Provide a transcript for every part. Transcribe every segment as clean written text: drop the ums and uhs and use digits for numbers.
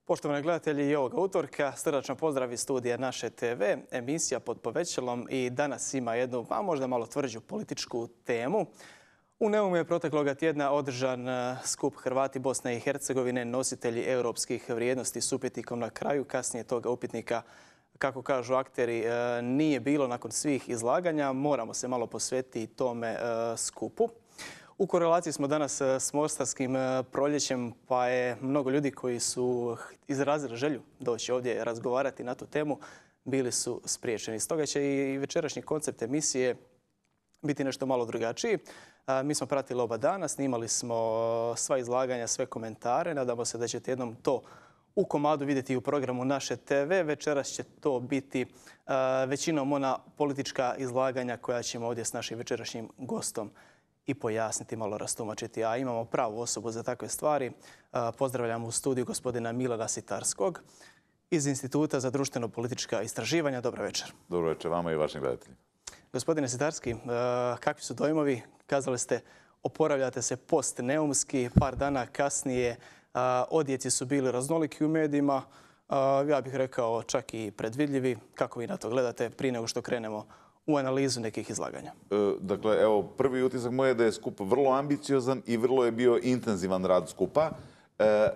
Poštovani gledatelji, i ovoga utorka srdačno pozdrav iz studija Naše TV, emisija Pod povećalom i danas ima jednu, a možda malo tvrđu političku temu. U Neumu je protekloga tjedna održan skup Hrvati Bosne i Hercegovine, nositelji europskih vrijednosti s upitnikom na kraju. Kasnije toga upitnika, kako kažu akteri, nije bilo nakon svih izlaganja. Moramo se malo posvetiti tome skupu. U korelaciji smo danas s Mostarskim proljećem, pa je mnogo ljudi koji su izrazili želju doći ovdje razgovarati na tu temu, bili su spriječeni. Stoga će i večerašnji koncept emisije biti nešto malo drugačiji. Mi smo pratili oba dana, snimali smo sva izlaganja, sve komentare. Nadamo se da ćete jednom to u komadu vidjeti u programu Naše TV. Večeras će to biti većinom ona politička izlaganja koja ćemo ovdje s našim večerašnjim gostom i pojasniti, malo rastumačiti. A imamo pravu osobu za takve stvari. Pozdravljamo u studiju gospodina Milana Sitarskog iz Instituta za društveno-politička istraživanja. Dobro večer. Dobro večer vama i vašim gledateljima. Gospodine Sitarski, kakvi su dojmovi? Kazali ste, oporavljate se post-neumski, par dana kasnije. Odjeci su bili raznoliki u medijima. Ja bih rekao čak i predvidljivi. Kako vi na to gledate prije nego što krenemo u analizu nekih izlaganja? Dakle, evo, prvi utisak moj je da je skup vrlo ambiciozan i vrlo je bio intenzivan rad skupa.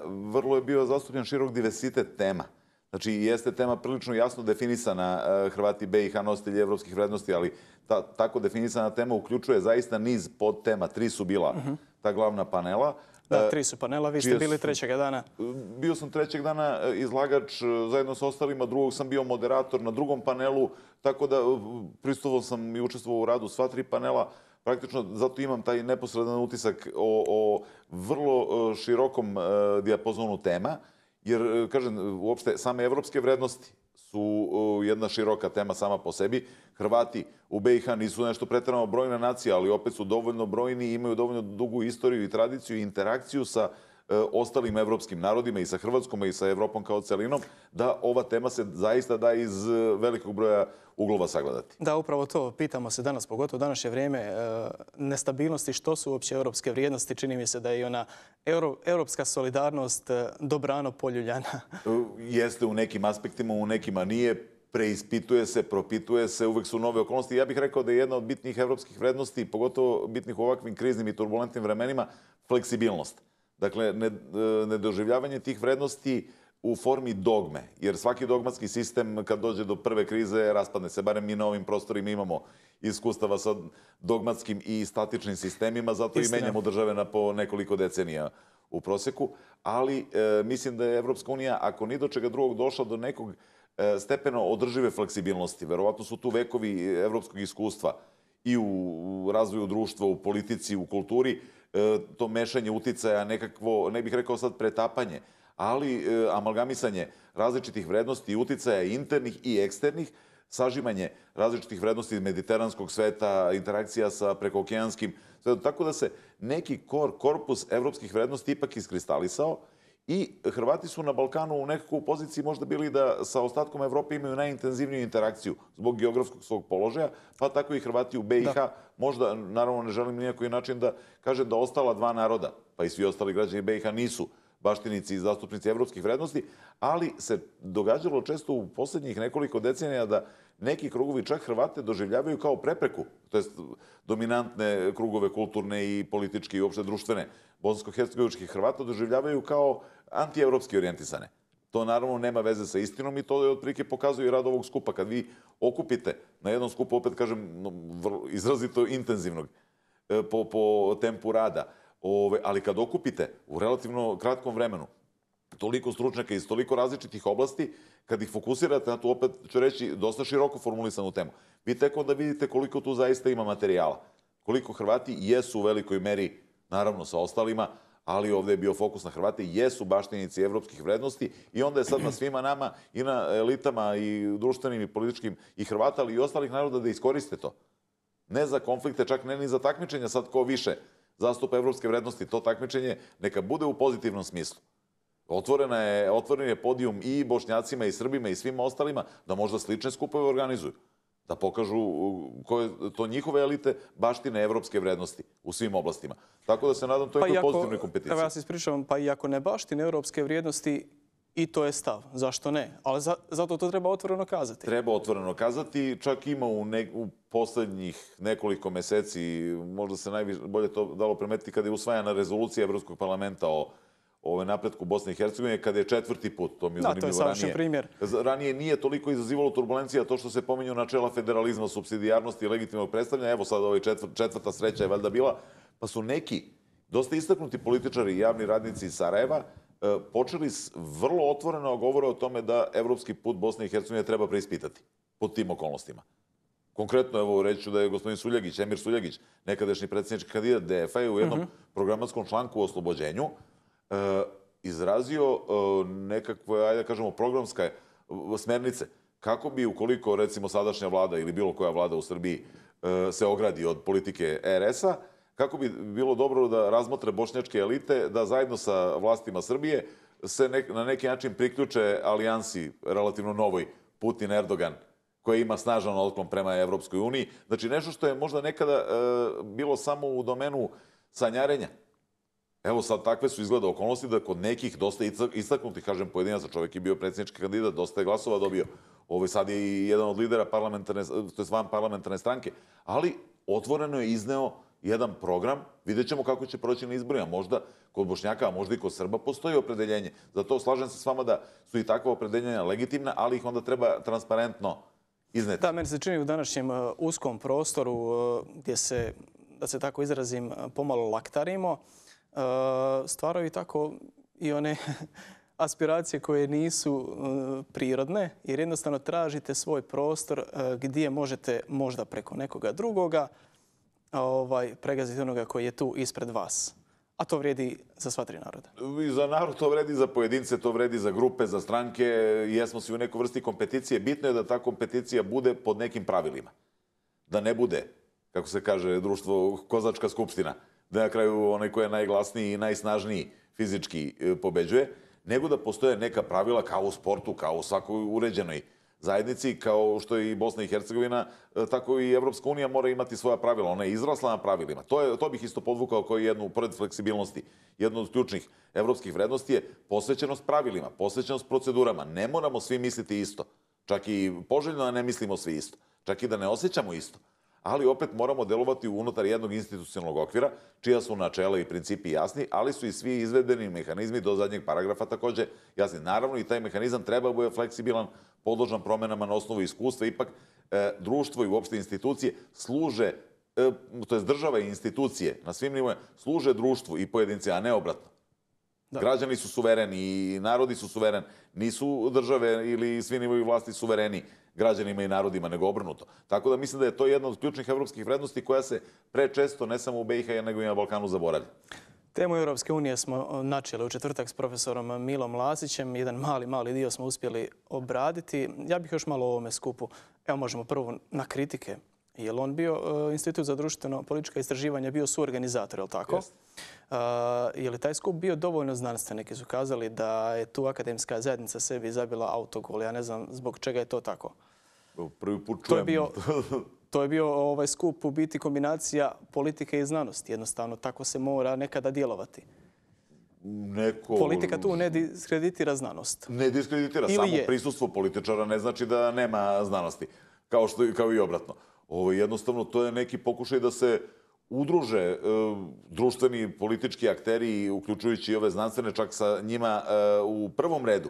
Vrlo je bio zastupljen širok diversitet tema. Znači, jeste tema prilično jasno definisana, Hrvati BiH nositelji evropskih vrednosti, ali tako definisana tema uključuje zaista niz podtema. 3 su bila ta glavna panela. Da, 3 su panela, vi ste bili trećega dana. Bio sam trećeg dana izlagač zajedno sa ostalima, drugog sam bio moderator na drugom panelu, tako da prisustvovao sam i učestvovao u radu sva 3 panela. Praktično zato imam taj neposredan utisak o vrlo širokom dijapazonu tema, jer, kažem, uopšte same evropske vrednosti su jedna široka tema sama po sebi. Hrvati u BiH nisu nešto pretjerano brojna nacija, ali opet su dovoljno brojni i imaju dovoljno dugu istoriju i tradiciju i interakciju sa ostalim evropskim narodima i sa Hrvatskom i sa Evropom kao celinom, da ova tema se zaista da iz velikog broja uglova sagledati. Da, upravo to pitamo se danas, pogotovo u današnje vrijeme, nestabilnosti, što su uopće europske vrijednosti. Čini mi se da je i ona europska solidarnost dobrano poljuljana. Jeste u nekim aspektima, u nekima nije. Preispituje se, propituje se, uvek su nove okolnosti. Ja bih rekao da je jedna od bitnih evropskih vrednosti, pogotovo bitnih u ovakvim kriznim i turbulentnim vremenima, fleksibilnost. Dakle, nedoživljavanje tih vrednosti u formi dogme. Jer svaki dogmatski sistem, kad dođe do prve krize, raspadne se. Barem mi na ovim prostorima imamo iskustava sa dogmatskim i statičnim sistemima, zato i menjamo države po nekoliko decenija u proseku. Ali mislim da je Evropska unija, ako ni do čega drugog, došla do nekog stepeno održive fleksibilnosti. Verovatno su tu vekovi evropskog iskustva i u razvoju društva, u politici, u kulturi, to mešanje uticaja, nekakvo, ne bih rekao sad pretapanje, ali amalgamisanje različitih vrednosti i uticaja internih i eksternih, sažimanje različitih vrednosti mediteranskog sveta, interakcija sa prekookeanskim svetom, tako da se neki korpus evropskih vrednosti ipak iskristalisao. I Hrvati su na Balkanu u nekakvu poziciji možda bili da sa ostatkom Evrope imaju najintenzivniju interakciju zbog geografskog svog položaja, pa tako i Hrvati u BiH. Možda, naravno, ne želim nijakoj način da kažem da ostala 2 naroda, pa i svi ostali građani BiH nisu baštinici i zastupnici evropskih vrednosti, ali se događalo često u posljednjih nekoliko decenija da neki krugovi čak Hrvate doživljavaju kao prepreku, to jest dominantne krugove kulturne i političke i uopšte društvene bosansko-hercegovičkih Hrvata doživljavaju kao antievropski orijentisane. To naravno nema veze sa istinom i to je otprilike pokazuje i rad ovog skupa. Kad vi okupite na jednom skupu, opet kažem, izrazito intenzivnog po tempu rada, ali kad okupite u relativno kratkom vremenu toliko stručnjaka iz toliko različitih oblasti, kad ih fokusirate na tu, opet ću reći, dosta široko formulisanu temu, vi tek onda vidite koliko tu zaista ima materijala. Koliko Hrvati jesu u velikoj meri, naravno sa ostalima, ali ovdje je bio fokus na Hrvate, jesu baštinici evropskih vrednosti i onda je sad na svima nama i na elitama i društvenim i političkim i Hrvata, ali i ostalih naroda da iskoriste to. Ne za konflikte, čak ne ni za takmičenja sad ko više zastupa evropske vrednosti. To takmičenje neka bude u pozitivnom smislu. Otvoren je podijum i Bošnjacima i Srbima i svima ostalima da možda slične skupove organizuju. Da pokažu koje to njihove elite baštine evropske vrednosti u svim oblastima. Tako da se nadam to je pozitivnoj kompeticiji. Evo ja se ispričavam, pa i ako ne baštine evropske vrijednosti, i to je stav. Zašto ne? Ali zato to treba otvoreno kazati. Treba otvoreno kazati. Čak ima u poslednjih nekoliko meseci, možda se najbolje to dalo primetiti kada je usvajana rezolucija Evropskog parlamenta o napretku Bosne i Hercegovine, kada je 4. put, to mi je zanimljivo. Da, to je savršen primjer. Ranije nije toliko izazivalo turbulencija to što se pominju načela federalizma, supsidijarnosti i legitimnog predstavljanja. Evo sad ovaj četvrta sreća je valjda bila, pa su neki dosta istaknuti političari i javni radnici iz Sarajeva počeli vrlo otvoreno govore o tome da evropski put Bosne i Hercegovine treba preispitati pod tim okolnostima. Konkretno, evo, reći ću da je gospodin Suljagić, Emir Suljagić, nekadašnji predsjednički kandidat DF-a, u jednom programatskom članku o oslobođenju izrazio nekakve, ajde da kažemo, programske smernice kako bi, ukoliko, recimo, sadašnja vlada ili bilo koja vlada u Srbiji se ogradi od politike RS-a, kako bi bilo dobro da razmotre bošnjačke elite, da zajedno sa vlastima Srbije se na neki način priključe alijansi relativno novoj Putin-Erdogan, koja ima snažan otklon prema Evropskoj uniji. Znači, nešto što je možda nekada bilo samo u domenu sanjarenja. Evo sad takve su izgleda okolnosti da kod nekih dosta istaknutih, kažem, pojedinaca, čovjek je bio predsjednički kandidat, dosta je glasova dobio. Sad je i jedan od lidera van parlamentarne stranke. Ali otvoreno je izneo jedan program, vidjet ćemo kako će proći na izborima. Možda kod Bošnjaka, a možda i kod Srba postoji opredeljenje. Zato slažem se s vama da su i takva opredeljenja legitimna, ali ih onda treba transparentno izneti. Da, meni se čini u današnjem uskom prostoru gdje se, da se tako izrazim, pomalo laktarimo, stvaraju tako i one aspiracije koje nisu prirodne, jer jednostavno tražite svoj prostor gdje možete možda preko nekoga drugoga pregaziti onoga koji je tu ispred vas. A to vrijedi za sva tri naroda. I za narod to vredi, za pojedince to vredi, za grupe, za stranke. Jesmo svi u nekoj vrsti kompeticije. Bitno je da ta kompeticija bude pod nekim pravilima. Da ne bude, kako se kaže, društvo kozačka skupština, da na kraju onaj ko je najglasniji i najsnažniji fizički pobeđuje, nego da postoje neka pravila kao u sportu, kao u svakoj uređenoj zajednici, kao što je i Bosna i Hercegovina, tako i Evropska unija mora imati svoja pravila. Ona je izrasla na pravilima. To bih isto podvukao kao jednu, pored fleksibilnosti, jednu od ključnih evropskih vrednosti je posvećenost pravilima, posvećenost procedurama. Ne moramo svi misliti isto. Čak i poželjno da ne mislimo svi isto. Čak i da ne osjećamo isto. Ali opet moramo delovati unutar jednog institucionalnog okvira, čija su načela i principi jasni, ali su i svi izvedbeni mehanizmi do zadnjeg paragrafa također jasni. Naravno, i taj mehanizam treba da bude fleksibilan, podložan promenama na osnovu iskustva. Ipak, društvo i uopšte institucije služe, to je država i institucije na svim nivoima, služe društvu i pojedinci, a ne obratno. Građani su suvereni i narodi su suvereni. Nisu države ili svi nivoji vlasti suvereni građanima i narodima, nego obrnuto. Tako da mislim da je to jedna od ključnih evropskih vrednosti koja se prečesto, ne samo u BiH, nego i na Balkanu zaboravlja. Temu Europske unije smo načeli u četvrtak s profesorom Milom Lasićem. Jedan mali dio smo uspjeli obraditi. Ja bih još malo o ovome skupu. Evo možemo prvo na kritike. Je li on bio, Institut za društveno-politička istraživanja, bio suorganizator, je li tako? Je li taj skup bio dovoljno znanstven? Neki su kazali da je tu akademska zajednica sebi zabila autogol. Ja ne znam zbog čega je to tako. Prvi put čujem. To je bio skup u biti kombinacija politike i znanosti. Jednostavno, tako se mora nekada djelovati. Politika tu ne diskreditira znanost. Ne diskreditira. Samo prisustvo političara ne znači da nema znanosti. Kao i obratno. Jednostavno, to je neki pokušaj da se udruže društveni politički akteri, uključujući i ove znanstvene, čak sa njima u prvom redu.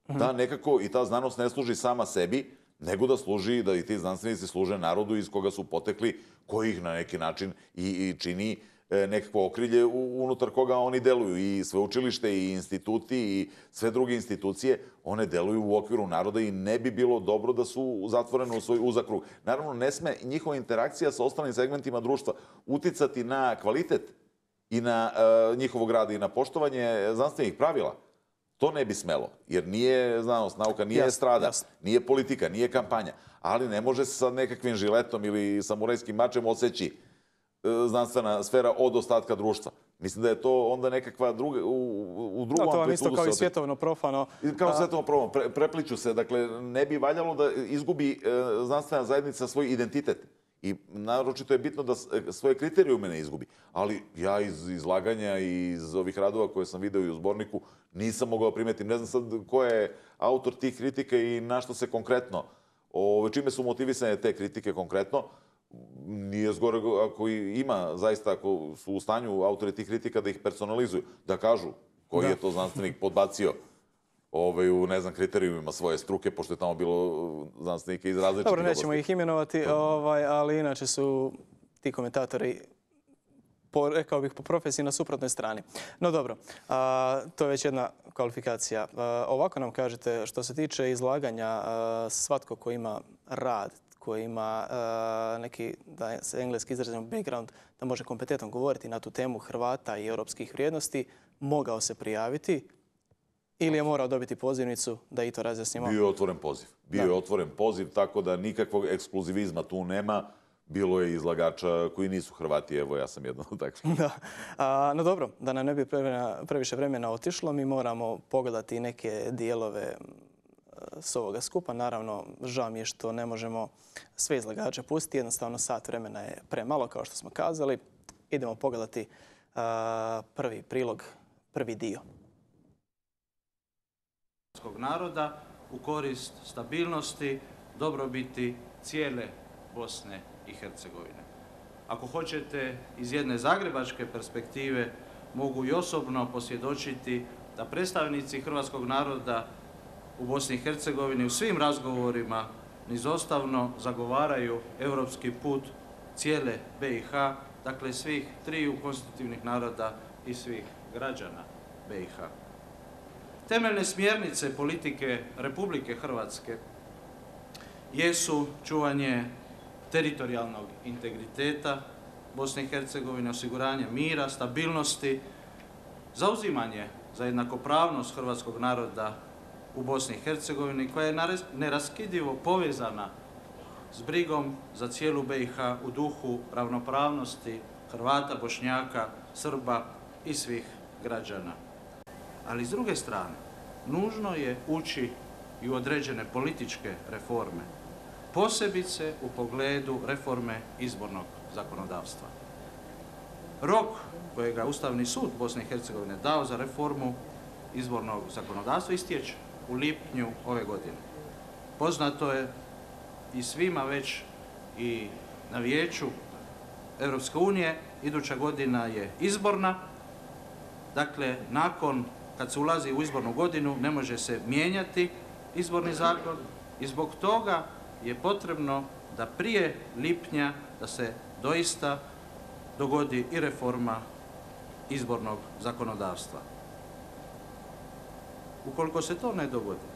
Da nekako i ta znanost ne služi sama sebi, nego da služi, da i ti znanstvenici služe narodu iz koga su potekli, koji ih na neki način i čini nekako okrilje unutar koga oni deluju. I sveučilište, i instituti, i sve druge institucije, one deluju u okviru naroda i ne bi bilo dobro da su zatvorene u svoj uzak krug. Naravno, ne sme njihova interakcija sa ostalim segmentima društva uticati na kvalitet i na njihovog rada i na poštovanje znanstvenih pravila. To ne bi smelo, jer nije znanost, nauka, nije estrada, nije politika, nije kampanja. Ali ne može se sa nekakvim žiletom ili samurajskim mačem odseći znanstvena sfera od ostatka društva. Mislim da je to onda nekakva druga, u drugom amplitudu. To vam isto kao i svjetovno profano. Kao svjetovno profano. Prepliču se. Dakle, ne bi valjalo da izgubi znanstvena zajednica svoj identitet I naročito je bitno da svoje kriterijume ne izgubi. Ali ja iz izlaganja i iz ovih radova koje sam video i u zborniku nisam mogao primetiti. Ne znam sad ko je autor tih kritika i na što se konkretno, čime su motivisane te kritike konkretno. Nije zgore ako ima, zaista, ako su u stanju autori tih kritika da ih personalizuju, da kažu koji je to znanstvenik podbacio u, ne znam, kriterijumima svoje struke, pošto je tamo bilo znanstvenika iz različitih oblasti. Dobro, nećemo ih imenovati, ali inače su ti komentatori, rekao bih, po profesiji na suprotnoj strani. No dobro, to je već jedna kvalifikacija. Ovako nam kažete, što se tiče izlaganja, svatko ko ima rad, koji ima neki, da se engleski izrazimo, background, da može kompetentno govoriti na tu temu Hrvata i europskih vrijednosti, mogao se prijaviti ili je morao dobiti pozivnicu da i to razjasnimo? Bio je otvoren poziv. Bio je otvoren poziv, tako da nikakvog ekskluzivizma tu nema. Bilo je izlagača koji nisu Hrvati, evo ja sam jedan od takvih. No dobro, da nam ne bi previše vremena otišlo, mi moramo pogledati neke dijelove s ovoga skupa. Naravno, žao mi je što ne možemo sve izlagače pustiti. Jednostavno, sat vremena je premalo, kao što smo kazali. Idemo pogledati prvi prilog, prvi dio. Naroda u korist stabilnosti, dobrobiti cijele Bosne i Hercegovine. Ako hoćete, iz jedne zagrebačke perspektive mogu i osobno posvjedočiti da predstavnici hrvatskog naroda u Bosni i Hercegovini u svim razgovorima nizostavno zagovaraju europski put cijele BiH, dakle svih triju konstitutivnih naroda i svih građana BiH. Temeljne smjernice politike Republike Hrvatske jesu čuvanje teritorijalnog integriteta Bosne i Hercegovine, osiguranje mira, stabilnosti, zauzimanje za jednakopravnost hrvatskog naroda u Bosni i Hercegovini, koja je neraskidivo povezana s brigom za cijelu BiH u duhu ravnopravnosti Hrvata, Bošnjaka, Srba i svih građana. Ali s druge strane, nužno je ući i u određene političke reforme, posebice u pogledu reforme izbornog zakonodavstva. Rok kojega je Ustavni sud Bosne i Hercegovine dao za reformu izbornog zakonodavstva istječe u lipnju ove godine. Poznato je i svima već i na Vijeću Europske unije, iduća godina je izborna. Dakle, nakon kad se ulazi u izbornu godinu ne može se mijenjati izborni zakon i zbog toga je potrebno da prije lipnja da se doista dogodi i reforma izbornog zakonodavstva. Ukoliko se to ne dogodi,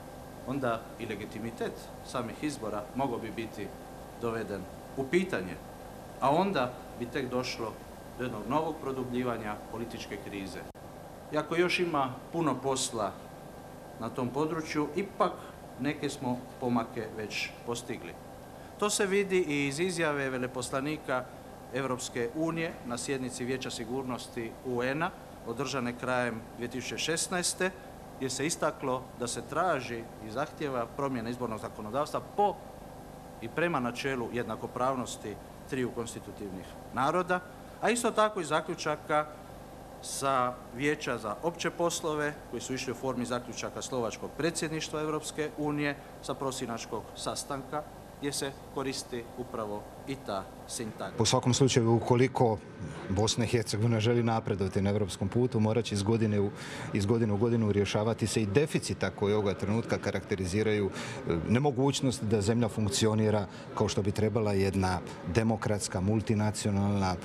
onda i legitimitet samih izbora mogao bi biti doveden u pitanje, a onda bi tek došlo do jednog novog produbljivanja političke krize. Iako još ima puno posla na tom području, ipak neke smo pomake već postigli. To se vidi i iz izjave veleposlanika Europske unije na sjednici Vijeća sigurnosti UN-a održane krajem 2016. gdje se istaklo da se traži i zahtjeva promjena izbornog zakonodavstva po i prema načelu jednakopravnosti triju konstitutivnih naroda, a isto tako i zaključaka sa Vijeća za opće poslove koji su išli u formi zaključaka slovačkog predsjedništva Europske unije sa prosinačkog sastanka gdje se koristi upravo i ta sintagma. U svakom slučaju, ukoliko Bosna i Hercegovina želi napredovati na europskom putu, morat će iz godine u godinu rješavati se i deficita koji ovoga trenutka karakteriziraju nemogućnost da zemlja funkcionira kao što bi trebala jedna demokratska, multinacionalna,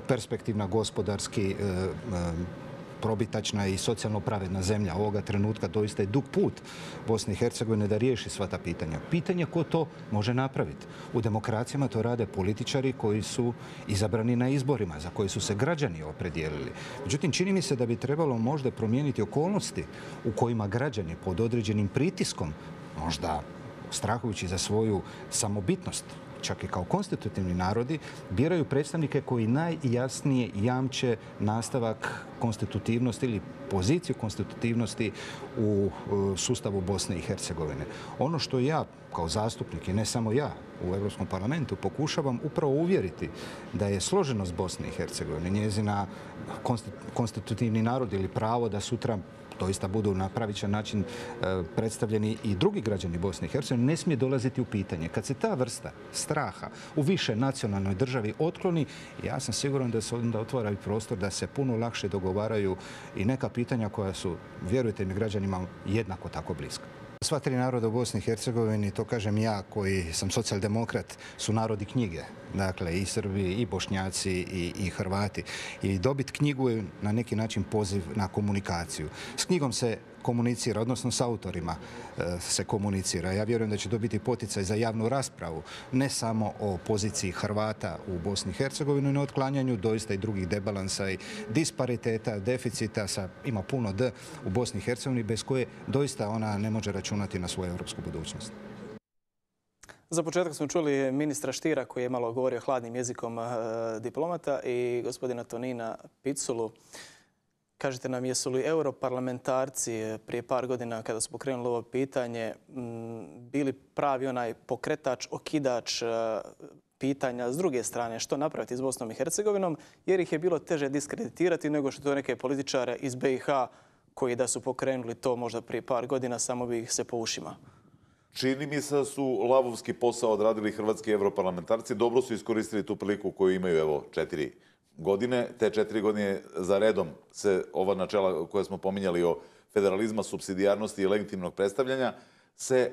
perspektivna, gospodarski probitačna i socijalno pravedna zemlja. Ovoga trenutka doista je dug put Bosne i Hercegovine da riješi sva ta pitanja. Pitanje ko to može napraviti. U demokracijama to rade političari koji su izabrani na izborima, za koje su se građani opredijelili. Međutim, čini mi se da bi trebalo možda promijeniti okolnosti u kojima građani pod određenim pritiskom, možda strahujući za svoju samobitnost, čak i kao konstitutivni narodi, biraju predstavnike koji najjasnije jamče nastavak konstitutivnosti ili poziciju konstitutivnosti u sustavu Bosne i Hercegovine. Ono što ja kao zastupnik i ne samo ja u Europskom parlamentu pokušavam upravo uvjeriti da je složenost Bosne i Hercegovine, njezina konstitutivni narod ili pravo da sutra doista budu na pravičan način predstavljeni i drugi građani Bosne i Hercegovine, ne smije dolaziti u pitanje. Kad se ta vrsta straha u više nacionalnoj državi otkloni, ja sam siguran da se onda otvara i prostor da se puno lakše dogovaraju i neka pitanja koja su, vjerujte mi, građanima jednako tako bliska. Sva tri naroda u Bosni i Hercegovini, to kažem ja koji sam socijaldemokrat, su narodi knjige. Dakle, i Srbi, i Bošnjaci, i Hrvati. I dobiti knjigu je na neki način poziv na komunikaciju. S knjigom se komunicira, odnosno s autorima se komunicira. Ja vjerujem da će to biti poticaj za javnu raspravu, ne samo o poziciji Hrvata u Bosni i Hercegovini, no otklanjanju doista i drugih debalansa i dispariteta, deficita, ima puno D u Bosni i Hercegovini, bez koje doista ona ne može računati na svoju europsku budućnost. Za početak smo čuli ministra Štira koji je malo govorio hladnim jezikom diplomata i gospodina Tonina Piculu. Kažite nam, jesu li europarlamentarci prije par godina kada su pokrenuli ovo pitanje bili pravi onaj pokretač, okidač pitanja s druge strane što napraviti s Bosnom i Hercegovinom, jer ih je bilo teže diskreditirati nego što to neke političare iz BiH koji da su pokrenuli to možda prije par godina samo bi ih se po ušima. Čini mi se da su lavovski posao odradili hrvatski europarlamentarci. Dobro su iskoristili tu priliku koju imaju, evo, 4 godine. Te 4 godine za redom se ova načela koje smo pominjali o federalizma, supsidijarnosti i legitimnog predstavljanja se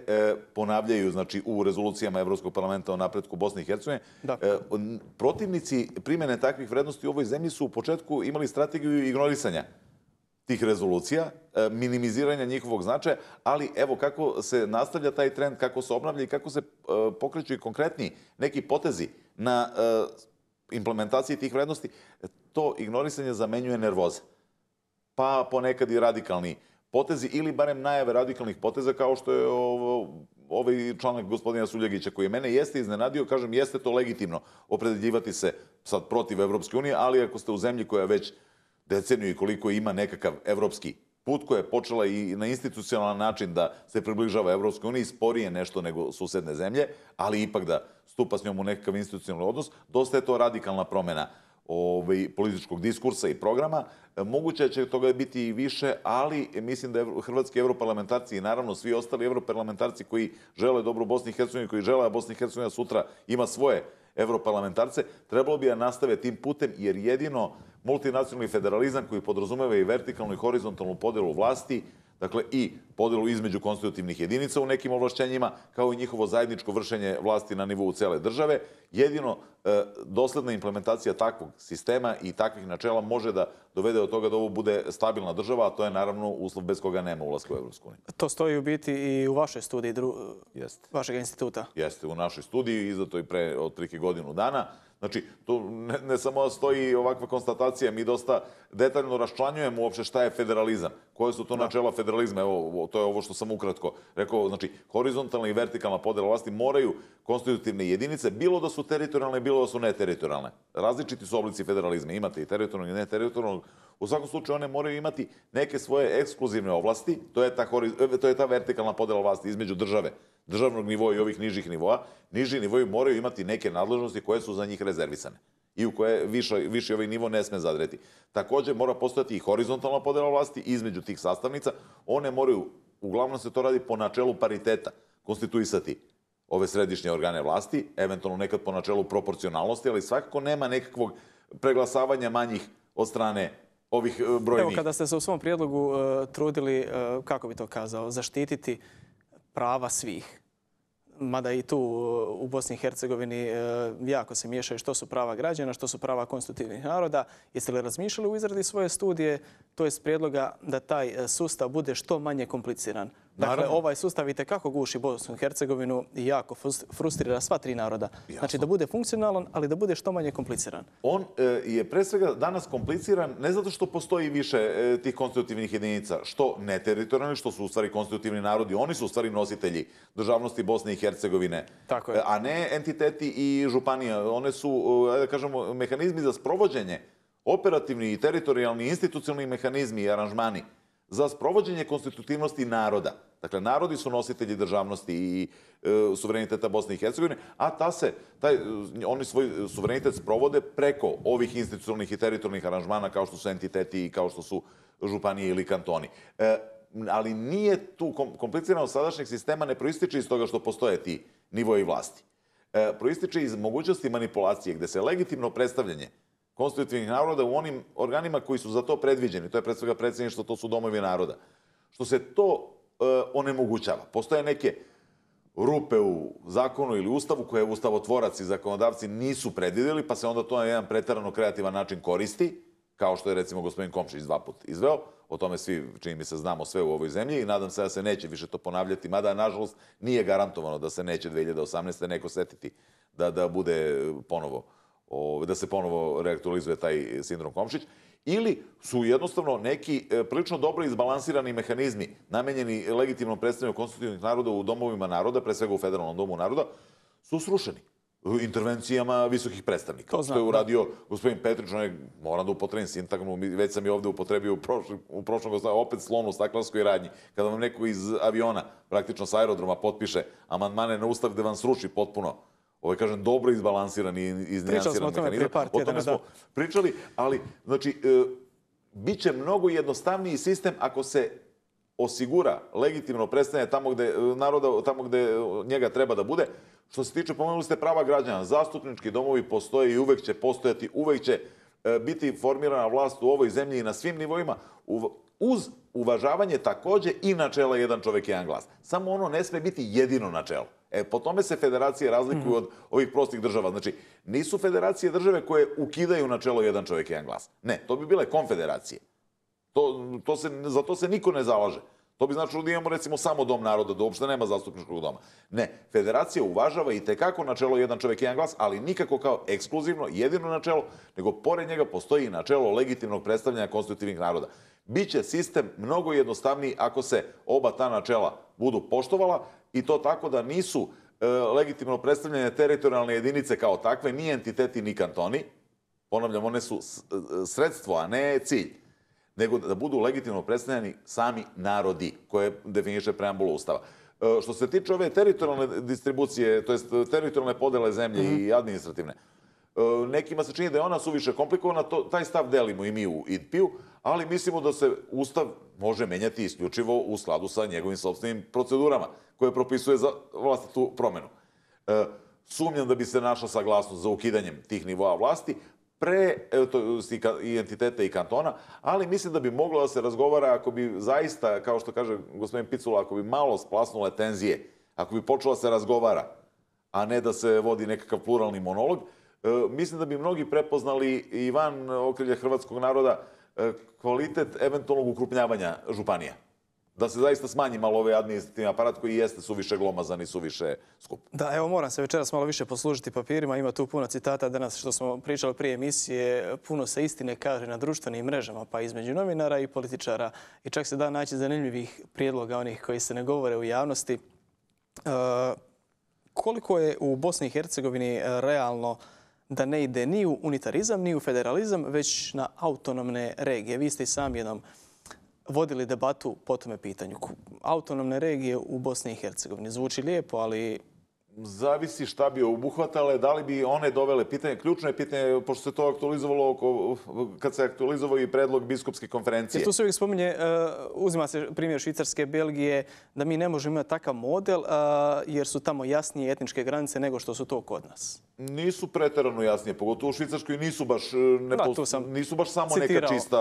ponavljaju, znači, u rezolucijama Evropskog parlamenta o napretku Bosne i Hercegovine. Protivnici primjene takvih vrednosti u ovoj zemlji su u početku imali strategiju ignorisanja tih rezolucija, minimiziranja njihovog značaja, ali evo kako se nastavlja taj trend, kako se obnavlja i kako se pokreću i konkretni neki potezi na implementaciji tih vrednosti, to ignorisanje zamenjuje nervoza. Pa ponekad i radikalni potezi ili barem najave radikalnih poteza kao što je ovaj članak gospodina Suljegića koji mene jeste iznenadio, kažem jeste to legitimno opredeljivati se sad protiv Evropske unije, ali ako ste u zemlji koja već deceniju i koliko ima nekakav evropski put koja je počela i na institucionalan način da se približava Evropskoj uniji, sporije nešto nego susedne zemlje, ali ipak da stupa s njom u nekakav institucionalni odnos, dosta je to radikalna promjena političkog diskursa i programa. Moguće će toga biti i više, ali mislim da hrvatski europarlamentarci i naravno svi ostali europarlamentarci koji žele dobro Bosni i Hercegovini, koji žele da Bosna i Hercegovina sutra ima svoje europarlamentarce, trebalo bi da nastave tim putem, jer jedino multinacionalni federalizam koji podrazumeva i vertikalnu i horizontalnu podelu vlasti, dakle i podelu između konstitutivnih jedinica u nekim ovlašćenjima, kao i njihovo zajedničko vršenje vlasti na nivou cele države, jedino dosledna implementacija takvog sistema i takvih načela može da dovede do toga da ovo bude stabilna država, a to je naravno uslov bez koga nema ulaska u Evropsku uniju. To stoji u biti i u vašoj studiji vašeg instituta. Jeste, u našoj studiji, izdato i pre otprilike godinu dana. Znači, tu ne samo stoji ovakva konstatacija, mi dosta detaljno raščlanjujemo uopšte šta je federalizam, koje su to načela federalizma. Evo, to je ovo što sam ukratko rekao. Znači, horizontalna i vertikalna podela vlasti moraju konstitutivne jedinice, bilo da su teritorijalne, bilo da su neteritorijalne. Različiti su oblici federalizma. Imate i teritorijalnog i neteritorijalnog. U svakom slučaju one moraju imati neke svoje ekskluzivne oblasti. To je ta vertikalna podela vlasti između državnog nivoa i ovih nižih nivoa. Niži nivoji moraju imati neke nadležnosti koje su za njih rezervisane i u koje viši ovaj nivo ne sme zadreti. Također mora postojati i horizontalna podela vlasti između tih sastavnica. One moraju, uglavnom se to radi po načelu pariteta, konstituisati ove središnje organe vlasti, eventualno nekad po načelu proporcionalnosti, ali svakako nema nekakvog preglasavanja manjih od strane ovih brojnih. Evo, kada ste se u svom prijedlogu trudili, kako bi to kazao, zaštititi prava svih, mada i tu u Bosni i Hercegovini jako se miješaju što su prava građana, što su prava konstitutivnih naroda. Jeste li razmišljali u izradi svoje studije, to jest prijedloga da taj sustav bude što manje kompliciran? Dakle, Naravno. ovaj sustav itekako guši Bosnu i Hercegovinu i jako frustrira sva tri naroda. Znači da bude funkcionalan, ali da bude što manje kompliciran. On je pre svega danas kompliciran ne zato što postoji više tih konstitutivnih jedinica, što neteritorijalni, što su u stvari konstitutivni narodi. Oni su u stvari nositelji državnosti Bosne i Hercegovine, Tako je. a ne entiteti i županije. One su, da kažemo, mehanizmi za sprovođenje, operativni i teritorijalni, institucionalni mehanizmi i aranžmani za sprovođenje konstitutivnosti naroda. Dakle, narodi su nositelji državnosti i suvereniteta Bosne i Hercegovine, a oni svoj suverenitet sprovode preko ovih institucionalnih i teritorijalnih aranžmana kao što su entiteti i kao što su županije ili kantoni. Ali nije tu kompliciranost sadašnjeg sistema, ne proističe iz toga što postoje ti nivoji vlasti. Proističe iz mogućnosti manipulacije gde se legitimno predstavljanje konstitutivnih naroda u onim organima koji su za to predviđeni, to je pred svega predsjedništvo, to su domovi naroda, što se to onemogućava. Postoje neke rupe u zakonu ili ustavu koje ustavotvorac i zakonodavci nisu predvidjeli, pa se onda to na jedan preterano kreativan način koristi, kao što je recimo gospodin Komšić 2 puta izveo. O tome svi, čini mi se, znamo sve u ovoj zemlji i nadam se da se neće više to ponavljati, mada, nažalost, nije garantovano da se neće 2018. neko setiti da bude ponovo, da se ponovo reaktualizuje taj sindrom Komšić, ili su jednostavno neki prilično dobro izbalansirani mehanizmi namenjeni legitimnom predstavljanju konstitutivnih naroda u domovima naroda, pre svega u Federalnom domu naroda, su srušeni intervencijama visokih predstavnika. To je uradio gospodin Petrić, moram da upotrebim sintagmu, već sam je ovde upotrebio u prošlom opet slonu u staklarskoj radnji. Kada vam neko iz aviona, praktično s aerodroma, potpiše amandmane na ustav gde vam sruši potpuno, kažem, dobro izbalansiran i iznijansiran mehanizam. O tome smo pričali, ali, znači, bit će mnogo jednostavniji sistem ako se osigura legitimno predstavljanje tamo gde njega treba da bude. Što se tiče, pomenuli ste prava građana, zastupnički domovi postoje i uvek će postojati, uvek će biti formirana vlast u ovoj zemlji i na svim nivoima, uz uvažavanje takođe i načela jedan čovek, jedan glas. Samo ono ne sme biti jedino načelo. Po tome se federacije razlikuju od ovih prostih država. Znači, nisu federacije države koje ukidaju načelo jedan čovek, jedan glas. Ne, to bi bile konfederacije. Za to se niko ne zalaže. To bi značilo da imamo recimo samo dom naroda, da uopšte nema zastupničkog doma. Ne, federacija uvažava i tekako načelo jedan čovek, jedan glas, ali nikako kao ekskluzivno, jedino načelo, nego pored njega postoji i načelo legitimnog predstavljanja konstitutivnih naroda. Biće sistem mnogo jednostavniji ako se oba ta načela budu poštovala i to tako da nisu legitimno predstavljene teritorijalne jedinice kao takve, ni entiteti, ni kantoni. Ponavljam, one su sredstvo, a ne cilj. Nego da budu legitimno predstavljeni sami narodi koje definiše preambula Ustava. Što se tiče ove teritorijalne distribucije, to jest teritorijalne podele zemlje i administrativne, nekima se čini da je ona suviše komplikovana, taj stav delimo i mi u IDP-u, ali mislimo da se Ustav može menjati isključivo u skladu sa njegovim sopstvenim procedurama koje propisuje za vlastitu promenu. Sumnjam da bi se našla saglasnost za ukidanjem tih nivoa vlasti, i entiteta i kantona, ali mislim da bi moglo da se razgovara ako bi zaista, kao što kaže gospodin Picula, ako bi malo splasnule tenzije, ako bi počela se razgovara, a ne da se vodi nekakav pluralni monolog, mislim da bi mnogi prepoznali i van okrilja hrvatskog naroda kvalitet eventualnog ukrupnjavanja županija. Da se zaista smanji malo ovaj administrativni aparat koji jeste suviše glomazan i suviše skup. Da, evo moram se večeras malo više poslužiti papirima. Ima tu puno citata danas što smo pričali prije emisije. Puno se istine kaže na društvenim mrežama, pa između novinara i političara. I čak se da naći zanimljivih prijedloga onih koji se ne govore u javnosti. Koliko je u Bosni i Hercegovini realno da ne ide ni u unitarizam, ni u federalizam, već na autonomne regije? Vi ste i sami jednom vodili debatu po tome pitanju. Autonomne regije u Bosni i Hercegovini. Zvuči lijepo, ali... Zavisi šta bi obuhvatale, da li bi one dovele pitanje. Ključno je pitanje, pošto se to aktualizovalo kad se aktualizovao i predlog biskupske konferencije. Jer tu se uvijek spominje, uzima se primjer Švicarske, Belgije, da mi ne možemo imati takav model jer su tamo jasnije etničke granice nego što su to kod nas. Nisu preterano jasnije, pogotovo u Švicarskoj nisu baš samo neka čista.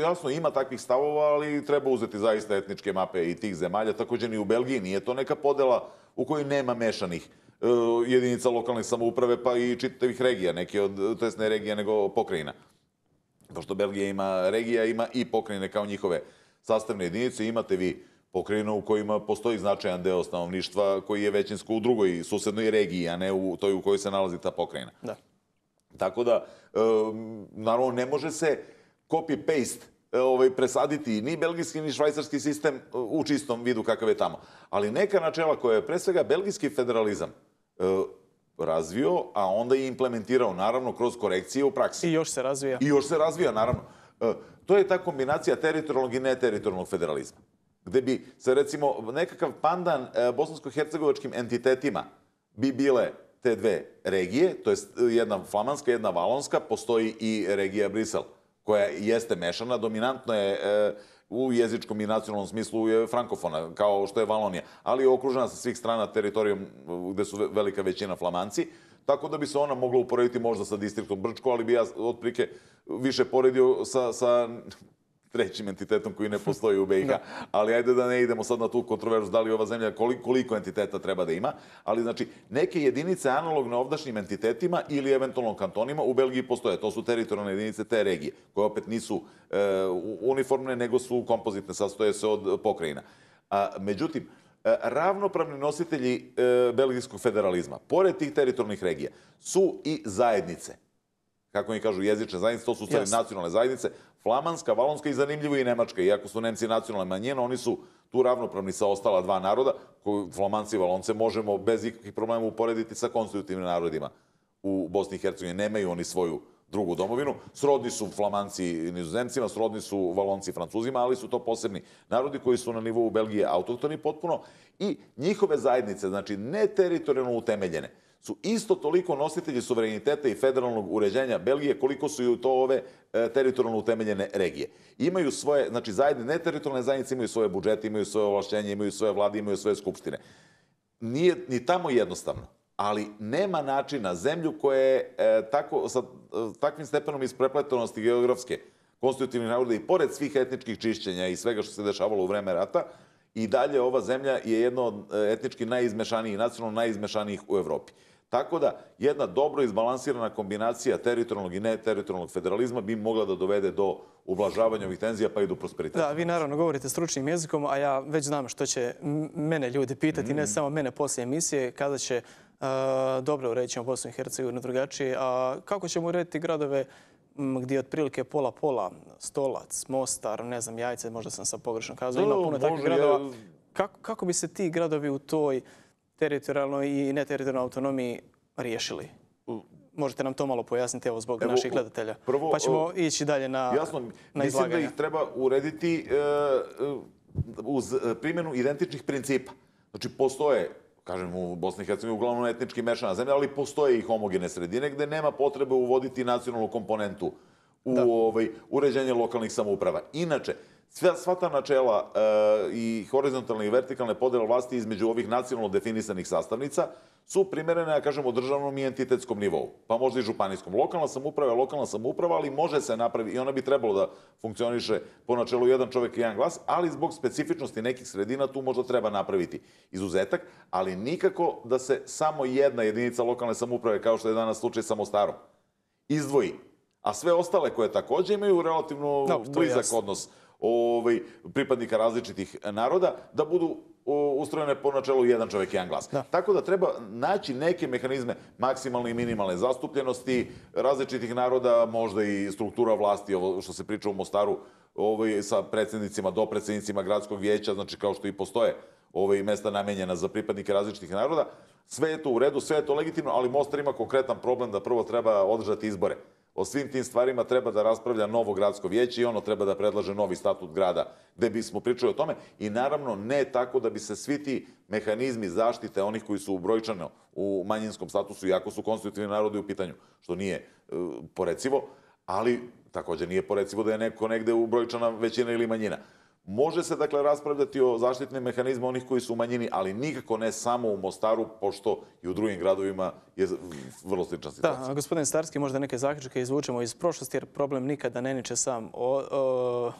Jasno, ima takvih stavova, ali treba uzeti zaista etničke mape i tih zemalja. Također ni u Belgiji nije to neka podela u kojoj nema mešanih jedinica lokalne samouprave, pa i čitavih regija, to jest ne regija, nego pokrajina. Pošto Belgija ima regija, ima i pokrajine kao njihove sastavne jedinice. Imate vi pokrajina u kojima postoji značajan deo stanovništva koji je većinsko u drugoj susednoj regiji, a ne u toj u kojoj se nalazi ta pokrajina. Da. Tako da, naravno, ne može se copy-paste presaditi ni belgijski ni švajcarski sistem u čistom vidu kakav je tamo. Ali neka načela koje je pre svega belgijski federalizam razvio, a onda i implementirao, naravno, kroz korekcije u praksi. I još se razvija. I još se razvija, naravno. To je ta kombinacija teritorijalnog i neteritorijalnog federalizma. Gde bi se, recimo, nekakav pandan bosansko-hercegovačkim entitetima bi bile te dve regije, to je jedna flamanska, jedna valonska, postoji i regija Brisel, koja jeste mešana, dominantno je u jezičkom i nacionalnom smislu je frankofona, kao što je Valonija, ali je okružena sa svih strana teritorijom gde su velika većina Flamanci, tako da bi se ona mogla uporediti možda sa distriktom Brčko, ali bi ja otprilike više poredio sa trećim entitetom koji ne postoji u BiH. Ali ajde da ne idemo sad na tu kontroverzu da li ova zemlja koliko entiteta treba da ima. Ali znači neke jedinice analogne ovdašnjim entitetima ili eventualno kantonima u Belgiji postoje. To su teritorijalne jedinice te regije, koje opet nisu uniformne, nego su kompozitne, sastoje se od pokrajina. Međutim, ravnopravni nositelji belgijskog federalizma, pored tih teritorijalnih regija, su i zajednice. Kako mi kažu, jezične zajednice, to su stvari nacionalne zajednice, flamanska, valonska i zanimljivo i nemačka. Iako su Nemci nacionalne manjine, oni su tu ravnopravni sa ostala dva naroda, koju flamanci i valonce možemo bez ikakvih problema uporediti sa konstitutivnim narodima u Bosni i Hercegovini. Nemaju oni svoju drugu domovinu. Srodni su Flamanci Nizozemcima, srodni su Valonci Francuzima, ali su to posebni narodi koji su na nivou Belgije autohtoni potpuno i njihove zajednice, znači ne teritorijalno utemeljene, su isto toliko nositelji suvereniteta i federalnog uređenja Belgije koliko su i to ove teritorijalno utemeljene regije. Imaju svoje, znači neteritorijalne zajednice imaju svoje budžete, imaju svoje ovlašćenje, imaju svoje vlade, imaju svoje skupštine. Nije ni tamo jednostavno, ali nema načina zemlju koja je sa takvim stepenom isprepletonosti geografske konstitutivnih naroda i pored svih etničkih čišćenja i svega što se dešavalo u vreme rata, i dalje ova zemlja je jedna od etnički najizmešanijih, nacionalno najizmešanijih u Evropi. Tako da jedna dobro izbalansirana kombinacija teritorijalnog i neteritorijalnog federalizma bi mogla da dovede do ublažavanja ovih tenzija pa i do prosperiteta. Da, vi naravno govorite stručnim jezikom, a ja već znam što će mene ljudi pitati, ne samo mene poslije emisije, kada će dobro urediti ćemo Bosnu i Hercegovinu drugačije, a kako ćemo urediti gradove gdje je otprilike pola-pola, Stolac, Mostar, ne znam, Jajce, možda sam sad pogrešno kazao, ima puno takvih gradova. Kako bi se ti gradovi u toj teritorijalnoj i neteritorijalnoj autonomiji riješili? Možete nam to malo pojasniti, evo, zbog naših gledatelja. Pa ćemo ići dalje na izlaganje. Mislim da ih treba urediti uz primjenu identičnih principa. Znači, postoje, kažem, u Bosni i Hercegovini uglavnom etnički mešana zemlja, ali postoje i homogene sredine gde nema potrebe uvoditi nacionalnu komponentu u uređenje lokalnih samouprava. Inače, sva ta načela i horizontalne i vertikalne podele vlasti između ovih nacionalno definisanih sastavnica su primerene, ja kažem, u državnom i entitetskom nivou, pa možda i županijskom. Lokalna samouprava je lokalna samouprava, ali može se napraviti, i ona bi trebalo da funkcioniše po načelu jedan čovek i jedan glas, ali zbog specifičnosti nekih sredina tu možda treba napraviti izuzetak, ali nikako da se samo jedna jedinica lokalne samouprave, kao što je danas slučaj sa Mostarom, izdvoji, a sve ostale koje takođe imaju relativno blizak odnos pripadnika različitih naroda, da budu ustrojene po načelu jedan čovek, jedan glas. Tako da treba naći neke mehanizme maksimalne i minimalne zastupljenosti različitih naroda, možda i struktura vlasti, ovo što se priča u Mostaru, sa predsjednicima, dopredsjednicima gradskog vijeća, znači kao što i postoje mesta namenjena za pripadnike različitih naroda. Sve je to u redu, sve je to legitimno, ali Mostar ima konkretan problem da prvo treba održati izbore. O svim tim stvarima treba da raspravlja novo gradsko vijeće i ono treba da predlaže novi statut grada gde bismo pričali o tome i naravno ne tako da bi se svi ti mehanizmi zaštite onih koji su brojčano u manjinskom statusu, iako su konstitutivni narodi u pitanju, što nije porecivo, ali također nije porecivo da je neko negde u brojčana većina ili manjina. Može se, dakle, raspravljati o zaštitnim mehanizmima onih koji su u manjini, ali nikako ne samo u Mostaru, pošto i u drugim gradovima je vrlo slična situacija. Da, gospodin Starski, možda neke zaključke izvučemo iz prošlosti, jer problem nikada ne niče sam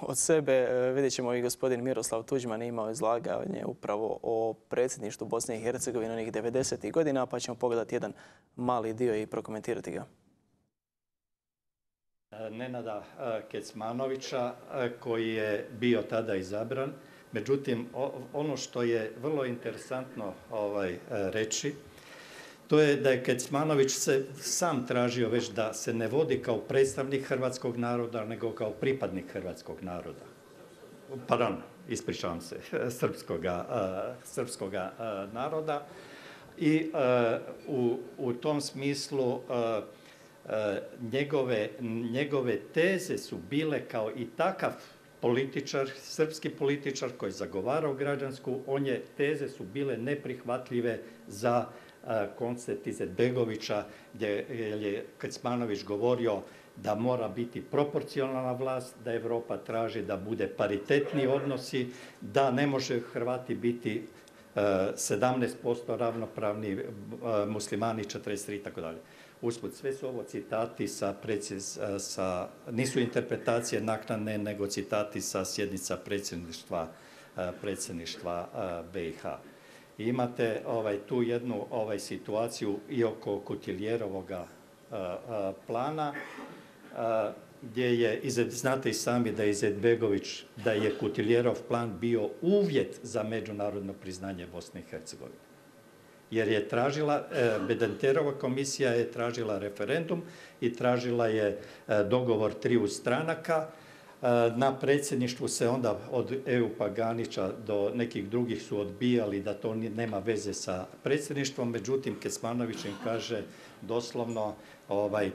od sebe. Vidjet ćemo i gospodin Miroslav Tuđman imao izlaganje upravo o predsjedništvu Bosne i Hercegovine onih 90. godina, pa ćemo pogledati jedan mali dio i prokomentirati ga. Nenada Kecmanovića, koji je bio tada izabran Međutim, ono što je vrlo interesantno reći, to je da je Kecmanović se sam tražio već da se ne vodi kao predstavnik hrvatskog naroda, nego kao pripadnik hrvatskog naroda. Pardon, ispričavam se, srpskoga naroda. I u tom smislu njegove teze su bile kao i takav političar, srpski političar koji je zagovarao građansku, teze su bile neprihvatljive za koncept Izetbegovića, gdje je Kecmanović govorio da mora biti proporcionalna vlast, da Europa traži da bude paritetni odnosi, da ne može Hrvati biti 17% ravnopravni, muslimani 43 i tako dalje. Usput, sve su ovo citati nisu interpretacije naknadne, nego citati sa sjednica predsjedništva BiH. I imate tu jednu situaciju i oko Kutiljerovoga plana, gdje je, znate i sami da je Izetbegović, da je Kutiljerov plan bio uvjet za međunarodno priznanje Bosne i Hercegovine. Jer je tražila, Bedenterova komisija je tražila referendum i tražila je dogovor triju stranaka. Na predsjedništvu se onda od EU Paganića do nekih drugih su odbijali da to nema veze sa predsjedništvom, međutim Kecmanović im kaže doslovno,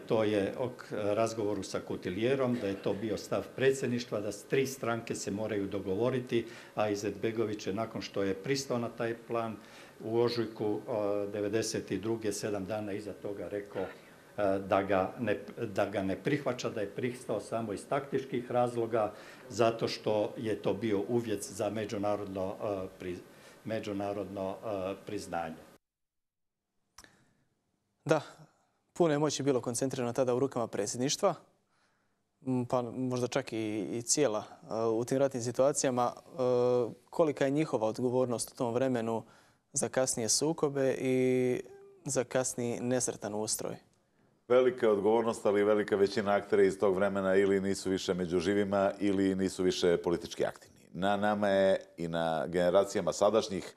to je o razgovoru sa Kutiljerom, da je to bio stav predsjedništva, da tri stranke se moraju dogovoriti, a Izetbegović je nakon što je pristao na taj plan u ožujku 92. 7 dana iza toga rekao da ga ne prihvaća, da je pristao samo iz taktičkih razloga, zato što je to bio uvjet za međunarodno priznanje. Da, puno je moći bilo koncentrirano tada u rukama predsjedništva, pa možda čak i cijela u tim ratnim situacijama. Kolika je njihova odgovornost u tom vremenu za kasnije sukobe i za kasniji nesretan ustroj? Velika odgovornost, ali velika većina aktera iz tog vremena ili nisu više među živima ili nisu više politički aktivni. Na nama je i na generacijama sadašnjih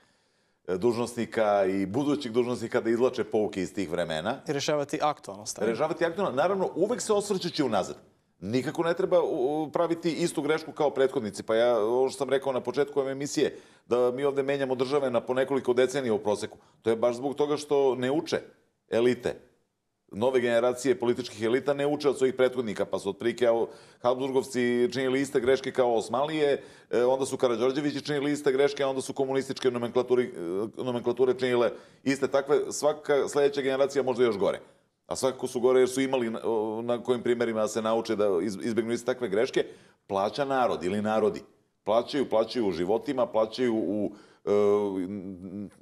dužnosnika i budućih dužnosnika da izvlače pouke iz tih vremena. I rješavati aktualno stanje. Rješavati aktualno. Naravno, uvek se osvrćući unazad. Nikako ne treba praviti istu grešku kao prethodnici. Pa ja, ovo što sam rekao na početku ove emisije, da mi ovde menjamo države na po nekoliko decenija u proseku. To je baš zbog toga što ne uče elite. Nove generacije političkih elita ne uče od svojih prethodnika, pa su otprilike Habsburgovci činili iste greške kao Osmanlije, onda su Karađorđevići činili iste greške, a onda su komunističke nomenklature činile iste takve. Svaka sledeća generacija možda još gore. A svakako su gore jer su imali na kojim primjerima da se nauče da izbjegnu iste takve greške. Plaća narod ili narodi. Plaćaju u životima, plaćaju u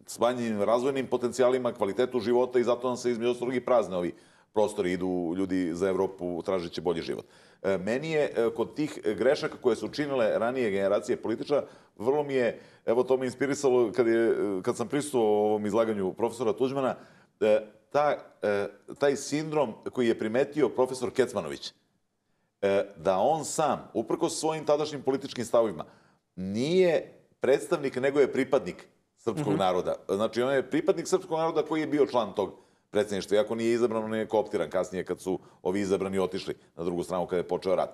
smanjenim razvojnim potencijalima, kvalitetu života i zato nam se između ostalog i prazne ovi prostori, idu ljudi za Evropu tražeći bolji život. Meni je kod tih grešaka koje su činile ranije generacije političara, vrlo mi je, evo to me inspirisalo kad sam prisustvovao ovom izlaganju profesora Tuđmana, taj sindrom koji je primetio profesor Kecmanović, da on sam, uprkos svojim tadašnjim političkim stavovima, nije predstavnik, nego je pripadnik srpskog naroda. Znači, on je pripadnik srpskog naroda koji je bio član tog predsjedništva, iako nije izabran, on je kooptiran kasnije kad su ovi izabrani otišli na drugu stranu kada je počeo rat.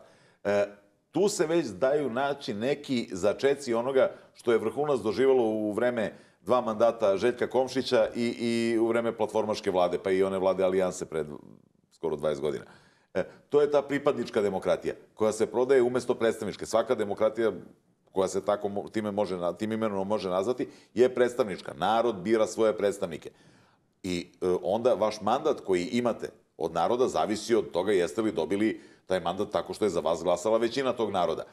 Tu se već daju naći neki začeci onoga što je vrhunac doživjelo u vreme 2 mandata Željka Komšića i u vreme platformaške vlade, pa i one vlade Alijanse pred skoro 20 godina. To je ta pripadnička demokratija koja se prodaje umjesto predstavničke. Svaka demokratija koja se tim imenom može nazvati, je predstavnička. Narod bira svoje predstavnike. I onda vaš mandat koji imate od naroda zavisi od toga jeste li dobili taj mandat tako što je za vas glasala većina tog naroda.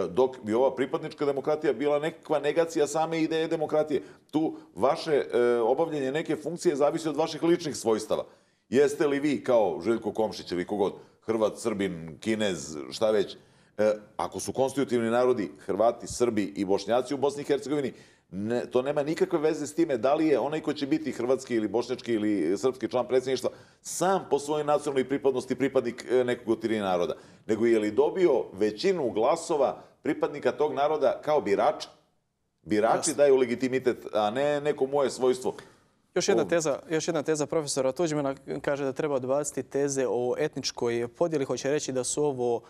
Dok bi ova pripadnička demokratija bila nekakva negacija same ideje demokratije. Tu vaše obavljanje neke funkcije zavisi od vaših ličnih svojstava. Jeste li vi kao Željko Komšić ili kogod, Hrvat, Srbin, Kinez, šta već, ako su konstitutivni narodi Hrvati, Srbi i Bošnjaci u Bosni i Hercegovini, to nema nikakve veze s time da li je onaj ko će biti hrvatski ili bošnjački ili srpski član predsjedništva sam po svojoj nacionalnoj pripadnosti pripadnik nekog od 3 naroda, nego je li dobio većinu glasova pripadnika tog naroda kao birača. Birači daju legitimitet, a ne neko moje svojstvo. Još jedna teza profesora Tuđmana kaže da treba odbaciti teze o etničkoj podjeli. Hoće reći da su ovo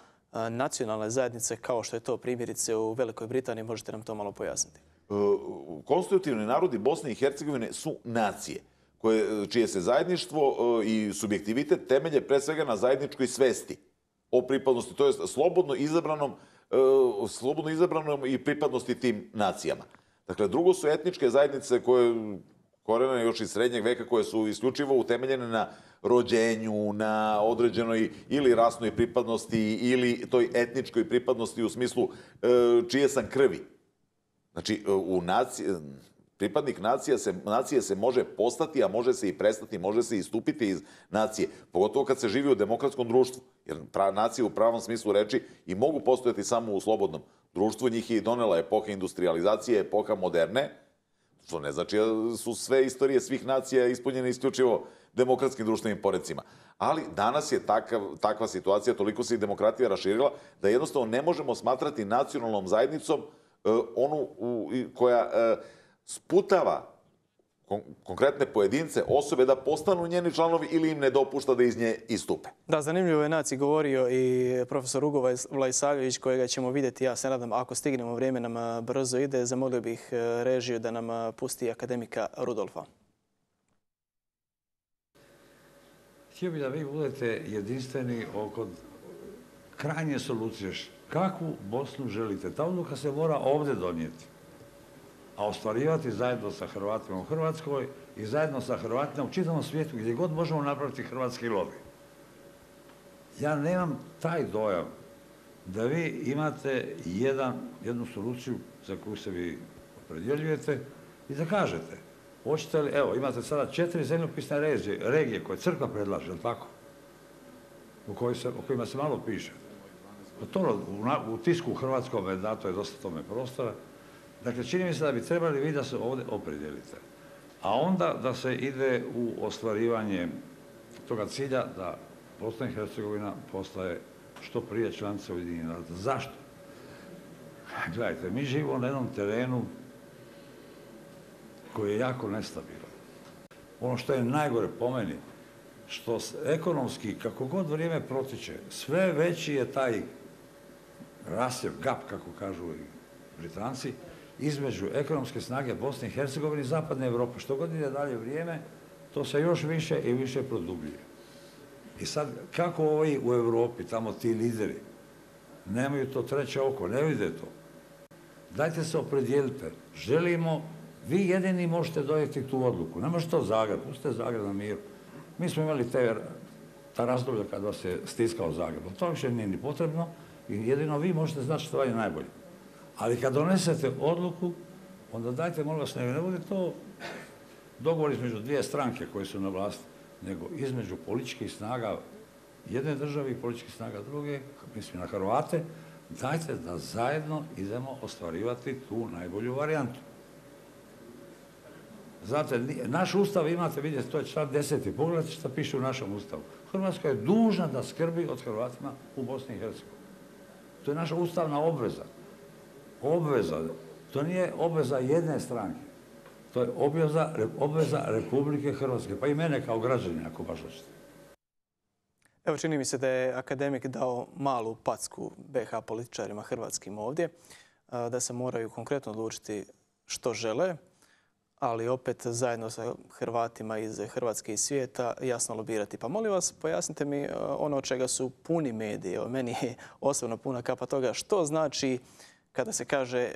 nacionalne zajednice kao što je to primjerice u Velikoj Britaniji. Možete nam to malo pojasniti? Konstitutivni narodi Bosne i Hercegovine su nacije čije se zajedništvo i subjektivitet temelje pre svega na zajedničkoj svesti o pripadnosti, to je slobodno izabranom i pripadnosti tim nacijama. Dakle, drugo su etničke zajednice koje korene još iz srednjeg veka, koje su isključivo utemeljene na rođenju, na određenoj ili rasnoj pripadnosti ili toj etničkoj pripadnosti u smislu čije sam krvi. Znači, pripadnik nacije se može postati, a može se i prestati, može se istupiti iz nacije. Pogotovo kad se živi u demokratskom društvu. Jer nacije u pravom smislu reči i mogu postojati samo u slobodnom društvu. Njih je donela epoha industrializacije, epoha moderne. Što ne znači da su sve istorije svih nacija ispunjene isključivo demokratskim društvenim porecima. Ali danas je takva situacija, toliko se i demokratija raširila, da jednostavno ne možemo smatrati nacionalnom zajednicom onu koja sputava konkretne pojedince, osobe da postanu njeni članovi ili im ne dopušta da iz nje istupe. Da, zanimljivo je naciji govorio i profesor Ugo Vlaisavljević, kojega ćemo vidjeti, ja se nadam, ako stignemo, vrijeme nam brzo ide. Zamolio bih režiju da nam pusti akademika Rudolfa. Htio bih da vi budete jedinstveni oko krajnje solucije. Kakvu Bosnu želite? Ta odluka se mora ovdje donijeti. A ostvarivati zajedno sa Hrvatima u Hrvatskoj i zajedno sa Hrvatima u čitavom svijetu gdje god možemo napraviti hrvatski lobby. Ja nemam taj dojam da vi imate jednu soluciju za koju se vi opredjeljujete i da kažete, hoćete li, evo, imate sada 4 zemljopisne regije koje crkva predlaže, jel' tako? O kojima se malo piše. U tisku u hrvatskom dato je dosta tome prostora. Dakle, čini mi se da bi trebali vi da se ovdje opredijelite. A onda da se ide u ostvarivanje toga cilja da Bosna i Hercegovina postaje što prije članica Ujedinjenih naroda. Zašto? Gledajte, mi živimo na jednom terenu koji je jako nestabilan. Ono što je najgore po meni, što ekonomski, kako god vrijeme protiče, sve veći je taj rasjev, gap, kako kažu i Britanci, između ekonomske snage Bosne i Hercegovine i Zapadne Europe. Što god ide dalje vrijeme, to se još više i više produbljuje. I sad, kako ovi u Europi, tamo ti lideri, nemaju to treće oko, ne vide to. Dajte se opredijelite. Želimo, vi jedini možete donijeti tu odluku. Ne možete to Zagreb, pustite Zagreb na miru. Mi smo imali ta razdoblja kad vas je stiskao Zagreb. To više nije ni potrebno i jedino vi možete znati što vam je najbolje. Ali kad donesete odluku, onda dajte, molim vas, ne bude to dogovor između dvije stranke koje su na vlasti, nego između političkih snaga jedne države i političkih snaga druge, mislim na Hrvate, dajte da zajedno idemo ostvarivati tu najbolju varijantu. Znate, naš ustav imate, vidjeti, to je član 10. Pogledajte što piše u našem ustavu. Hrvatska je dužna da skrbi od Hrvatima u Bosni i Hercegovini. To je naša ustavna obveza. Obveza. To nije obveza jedne stranke. To je obveza Republike Hrvatske, pa i mene kao građanina, ako baš hoćete. Evo, čini mi se da je akademik dao malu packu BiH političarima hrvatskim ovdje, da se moraju konkretno odlučiti što žele, ali opet zajedno sa Hrvatima iz Hrvatske i svijeta jasno lobirati. Pa molim vas, pojasnite mi ono od čega su puni mediji. Meni je osobno puna kapa toga. Što znači kada se kaže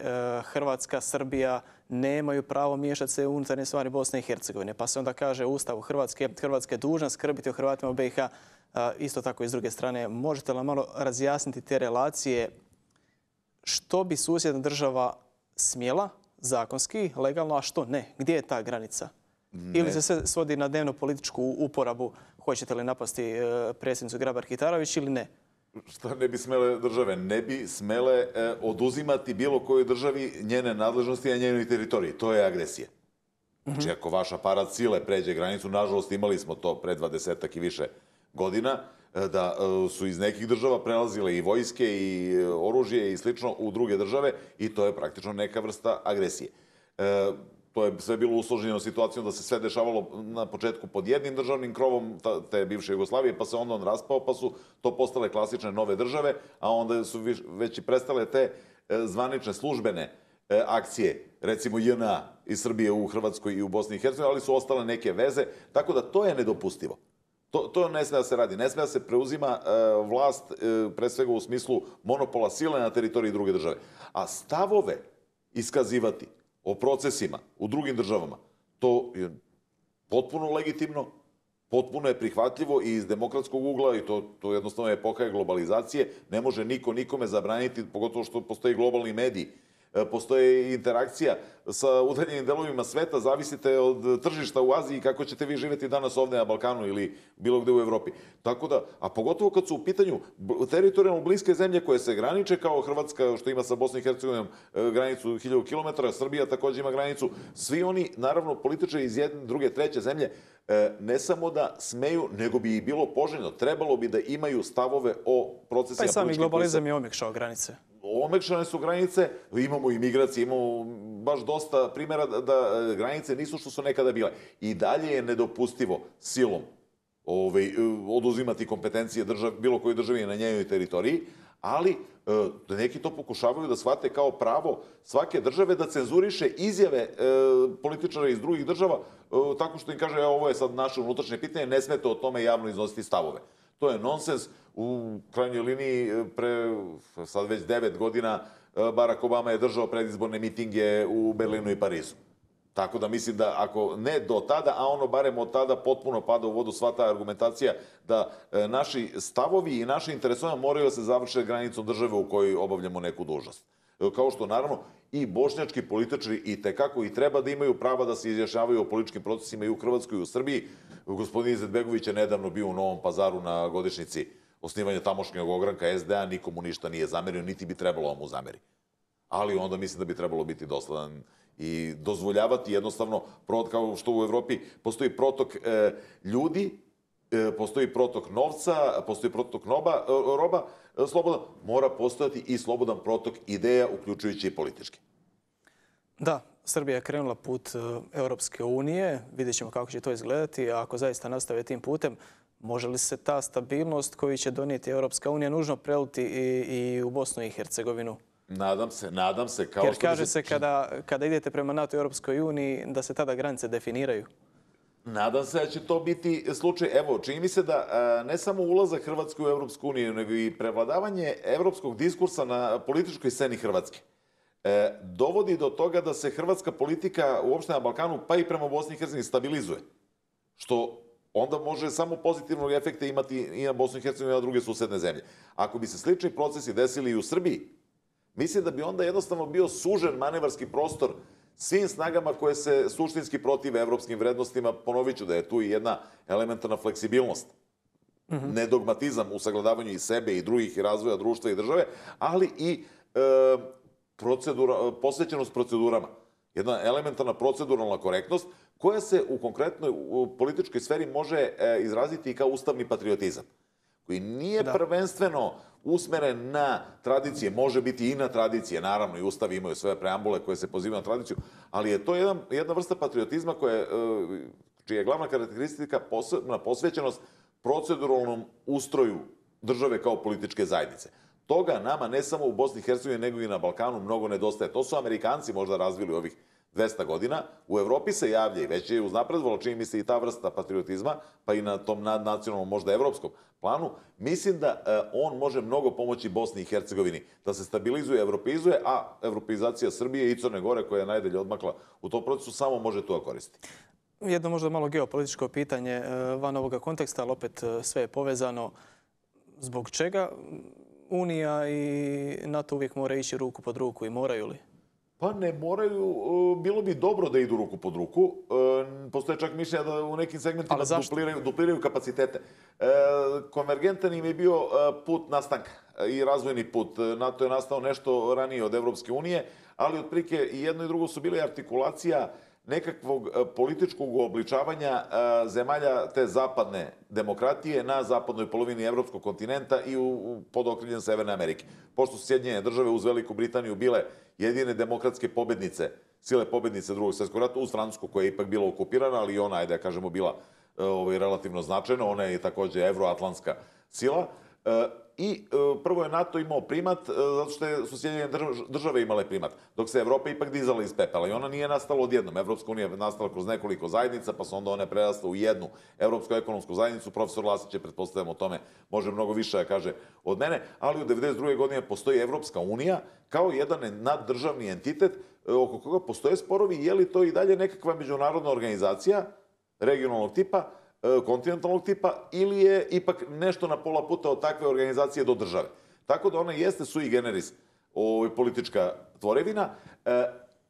Hrvatska, Srbija nemaju pravo miješati se u unutarnje stvari Bosne i Hercegovine. Pa se onda kaže u Ustavu Hrvatska je dužna skrbiti o Hrvatima u BiH. Isto tako i s druge strane. Možete li malo razjasniti te relacije? Što bi susjedna država smjela zakonski, legalno, a što ne? Gdje je ta granica? Ili se sve svodi na dnevno političku uporabu? Hoćete li napasti predsjednicu Grabar-Kitarović ili ne? Šta ne bi smele države? Ne bi smele oduzimati bilo kojoj državi njene nadležnosti na njenoj teritoriji. To je agresija. Znači, ako vaš aparat sile pređe granicu, nažalost imali smo to pre 20 i više godina, da su iz nekih država prelazile i vojske i oružje i slično u druge države i to je praktično neka vrsta agresije. To je sve bilo usloženo situacijom da se sve dešavalo na početku pod jednim državnim krovom te bivše Jugoslavije, pa se onda on raspao, pa su to postale klasične nove države, a onda su već i prestale te zvanične službene akcije, recimo JNA iz Srbije u Hrvatskoj i u Bosni i Hercegovini, ali su ostale neke veze, tako da to je nedopustivo. To ne sme da se radi. Ne sme da se preuzima vlast, pre svega u smislu monopola sile na teritoriji druge države. A stavove iskazivati o procesima u drugim državama, to je potpuno legitimno, potpuno je prihvatljivo i iz demokratskog ugla, i to jednostavno je epoha globalizacije, ne može niko nikome zabraniti, pogotovo što postoji globalni mediji. Postoje interakcija sa udaljenim delovima sveta, zavisite od tržišta u Aziji kako ćete vi živjeti danas ovdje na Balkanu ili bilo gde u Evropi. Tako da, a pogotovo kad su u pitanju teritorijalno bliske zemlje koje se graniče, kao Hrvatska što ima sa Bosnom i Hercegovinom granicu 1000 km, Srbija također ima granicu, svi oni, naravno, političari iz jedne, druge, treće zemlje, ne samo da smeju, nego bi i bilo poželjno, trebalo bi da imaju stavove o procesima. Pa i sami globalizam je omekšao granice. Omekšane su granice, imamo i migracije, imamo baš dosta primjera da granice nisu što su nekada bile. I dalje je nedopustivo silom oduzimati kompetencije bilo koje državi na njenoj teritoriji, ali neki to pokušavaju da shvate kao pravo svake države da cenzuriše izjave političara iz drugih država tako što im kaže ovo je sad naše unutrašnje pitanje, ne smete o tome javno iznositi stavove. To je nonsens. U krajnjoj liniji pre sad već 9 godina Barack Obama je držao predizborne mitinge u Berlinu i Parizu. Tako da mislim da ako ne do tada, a ono barem od tada potpuno pada u vodu sva ta argumentacija da naši stavovi i naše interesovanja moraju da se završe granicom države u kojoj obavljamo neku dužnost. Kao što naravno i bošnjački političari i tekako i treba da imaju prava da se izjašnjavaju o političkim procesima i u Hrvatskoj i u Srbiji. Gospodin Izetbegović je nedavno bio u Novom Pazaru na godišnjici osnivanja tamošnjeg ogranka SDA, nikomu ništa nije zamerio, niti bi trebalo mu zameri. Ali onda mislim da bi trebalo biti dosledan i dozvoljavati jednostavno, kao što u Evropi postoji protok ljudi, postoji protok novca, postoji protok roba, slobodan, mora postojati i slobodan protok ideja, uključujući i politički. Da, Srbija je krenula put Europske unije, vidjet ćemo kako će to izgledati, a ako zaista nastave tim putem, može li se ta stabilnost koju će donijeti Europska unija nužno preliti i u Bosnu i Hercegovinu? Nadam se. Jer kaže se kada idete prema NATO i Europskoj uniji da se tada granice definiraju. Nadam se da će to biti slučaj. Evo, čini mi se da ne samo ulazak Hrvatske u Europsku uniju, nego i prevladavanje evropskog diskursa na političkoj sceni Hrvatske dovodi do toga da se hrvatska politika uopšte na Balkanu, pa i prema Bosni i Hercegovini, stabilizuje. Što onda može samo pozitivnog efekta imati i na Bosnu i Hercegovini i na druge susedne zemlje. Ako bi se slični procesi desili i u Srbiji, mislim da bi onda jednostavno bio sužen manevarski prostor svim snagama koje se suštinski protive evropskim vrednostima. Ponovit ću da je tu i jedna elementarna fleksibilnost, nedogmatizam u sagledavanju i sebe i drugih i razvoja društva i države, ali i posvećenost procedurama. Jedna elementarna proceduralna korektnost koja se u konkretnoj političkoj sferi može izraziti i kao ustavni patriotizam, koji nije prvenstveno usmeren na tradicije, može biti i na tradicije, naravno i ustavi imaju sve preambule koje se pozivaju na tradiciju, ali je to jedna vrsta patriotizma čija je glavna karakteristika posvećenost proceduralnom ustroju države kao političke zajednice. Toga nama ne samo u Bosni i Hercegovini, nego i na Balkanu mnogo nedostaje. To su Amerikanci možda razvili ovih 200 godina. U Evropi se javlja i već je uznapredovalo, čini mi se, i ta vrsta patriotizma, pa i na tom nadnacionalnom, možda evropskom planu. Mislim da on može mnogo pomoći Bosni i Hercegovini da se stabilizuje, evropeizuje, a evropeizacija Srbije i Crne Gore, koja je najdalje odmakla u tom procesu, samo može to koristiti. Jedno možda malo geopolitičko pitanje van ovoga konteksta, ali opet sve je povezano. Zbog čega Unija i NATO uvijek moraju ići ruku pod ruku i moraju li? Pa ne moraju, bilo bi dobro da idu ruku pod ruku. Postoje čak mišljenja da u nekim segmentima dupliraju kapacitete. Konvergentan im je bio put nastanka i razvojni put. NATO je nastao nešto ranije od Evropske unije, ali otprilike i jedno i drugo su bile artikulacija nekakvog političkog uobličavanja zemalja te zapadne demokratije na zapadnoj polovini evropskog kontinenta i pod okriljem Severne Amerike. Pošto su Sjedinjene države uz Veliku Britaniju bile jedine demokratske pobednice, sile pobednice Drugog svjetskog rata, uz Francusku koja je ipak bila okupirana, ali i ona, ajde da kažemo, bila relativno značajna. Ona je takođe evroatlantska sila. I prvo je NATO imao primat zato što su Sjedinjene države imale primat, dok se Evropa ipak dizala iz pepela i ona nije nastala odjednom. Evropska unija je nastala kroz nekoliko zajednica, pa su onda one prerasle u jednu Evropsku ekonomsku zajednicu. Profesor Lasić je, pretpostavljam, o tome može mnogo više da kaže od mene, ali u 1992. godine postoji Evropska unija kao jedan naddržavni entitet oko koga postoje sporovi, je li to i dalje nekakva međunarodna organizacija regionalnog tipa, kontinentalnog tipa, ili je ipak nešto na pola puta od takve organizacije do države. Tako da ona jeste sui generis politička tvorevina.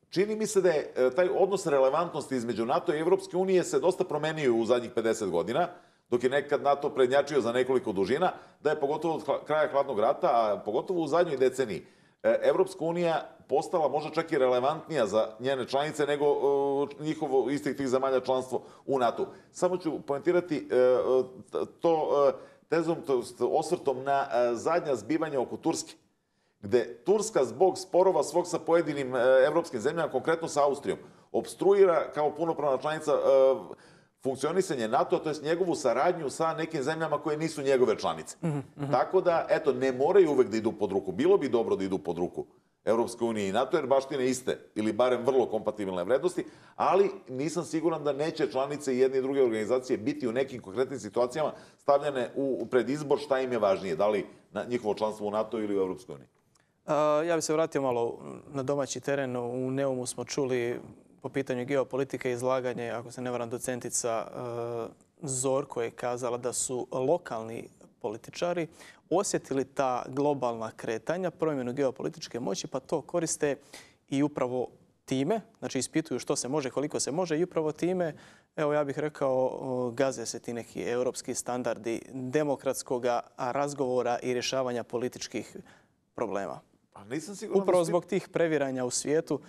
Čini mi se da je taj odnos relevantnosti između NATO i Evropske unije se dosta promenio u zadnjih 50 godina, dok je nekad NATO prednjačio za nekoliko dužina, da je pogotovo od kraja Hladnog rata, a pogotovo u zadnjoj deceniji, Evropska unija postala možda čak i relevantnija za njene članice nego njihovo istih tih zemalja članstvo u NATO. Samo ću poentirati to tezom, osvrtom na zadnja zbivanja oko Turske, gde Turska zbog sporova svog sa pojedinim evropskim zemljama, konkretno sa Austrijom, obstruira kao punopravna članica funkcionisanje NATO, to je njegovu saradnju sa nekim zemljama koje nisu njegove članice. Tako da, eto, ne moraju uvek da idu pod ruku. Bilo bi dobro da idu pod ruku Evropske unije i NATO, jer baštine iste, ili barem vrlo kompatibilne vrednosti, ali nisam siguran da neće članice jedne i druge organizacije biti u nekim konkretnim situacijama stavljene pred izbor šta im je važnije, da li njihovo članstvo u NATO ili u Evropskoj uniji. Ja bih se vratio malo na domaći teren. U Neumu smo čuli po pitanju geopolitike izlaganje, ako se ne varam, docentica Zorko je kazala da su lokalni političari osjetili ta globalna kretanja, promjenu geopolitičke moći, pa to koriste i upravo time, znači ispituju što se može, koliko se može i upravo time, evo ja bih rekao, gaze se ti neki europski standardi demokratskog razgovora i rješavanja političkih problema. Upravo zbog tih previranja u svijetu,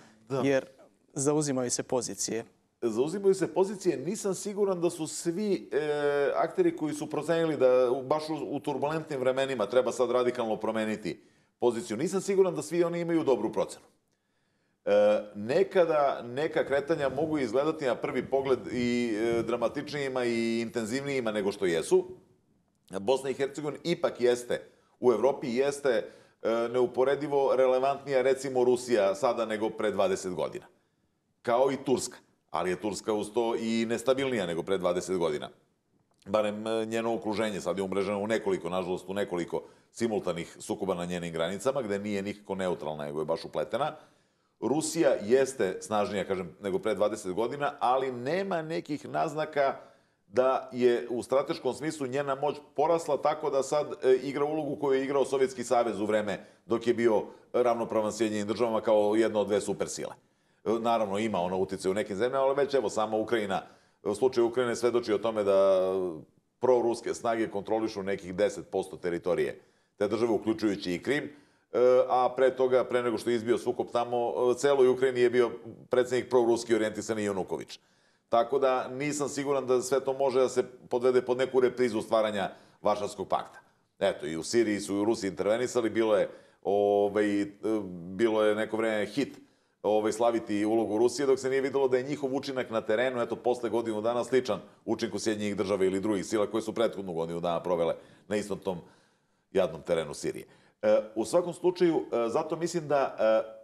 jer zauzimaju se pozicije. Zauzimaju se pozicije. Nisam siguran da su svi akteri koji su procenili da baš u turbulentnim vremenima treba sad radikalno promeniti poziciju. Nisam siguran da svi oni imaju dobru procenu. Nekada neka kretanja mogu izgledati na prvi pogled i dramatičnijima i intenzivnijima nego što jesu. Bosna i Hercegovina ipak jeste u Evropi, jeste neuporedivo relevantnija, recimo, Rusija sada nego pre 20 godina. Kao i Turska. Ali je Turska uz to i nestabilnija nego pre 20 godina. Barem njeno okruženje sad je umreženo u nekoliko, nažalost, u nekoliko simultanih sukoba na njenim granicama, gde nije nikako neutralna, nego je baš upletena. Rusija jeste snažnija, kažem, nego pre 20 godina, ali nema nekih naznaka da je u strateškom smislu njena moć porasla tako da sad igra ulogu koju je igrao Sovjetski savez u vreme dok je bio ravnopravan Sjedinjenim državama kao jedna od dve supersile. Naravno, ima ona uticaj u nekim zemljama, ali već evo sama Ukrajina, u slučaju Ukrajine svedoči o tome da proruske snage kontrolišu nekih 10% teritorije te države, uključujući i Krim, a pre toga, pre nego što je izbio sukob tamo, celoj Ukrajini je bio predsjednik proruski orijentisani Januković. Tako da nisam siguran da sve to može da se podvede pod neku reprizu stvaranja Varšavskog pakta. Eto, i u Siriji su i u Rusiji intervenisali, bilo je neko vreme hit slaviti ulogu Rusije, dok se nije videlo da je njihov učinak na terenu, eto, posle godinu dana sličan učinku Sjedinjenih država ili drugih sila koje su prethodnu godinu dana provele na istom tom jadnom terenu Sirije. U svakom slučaju, zato mislim da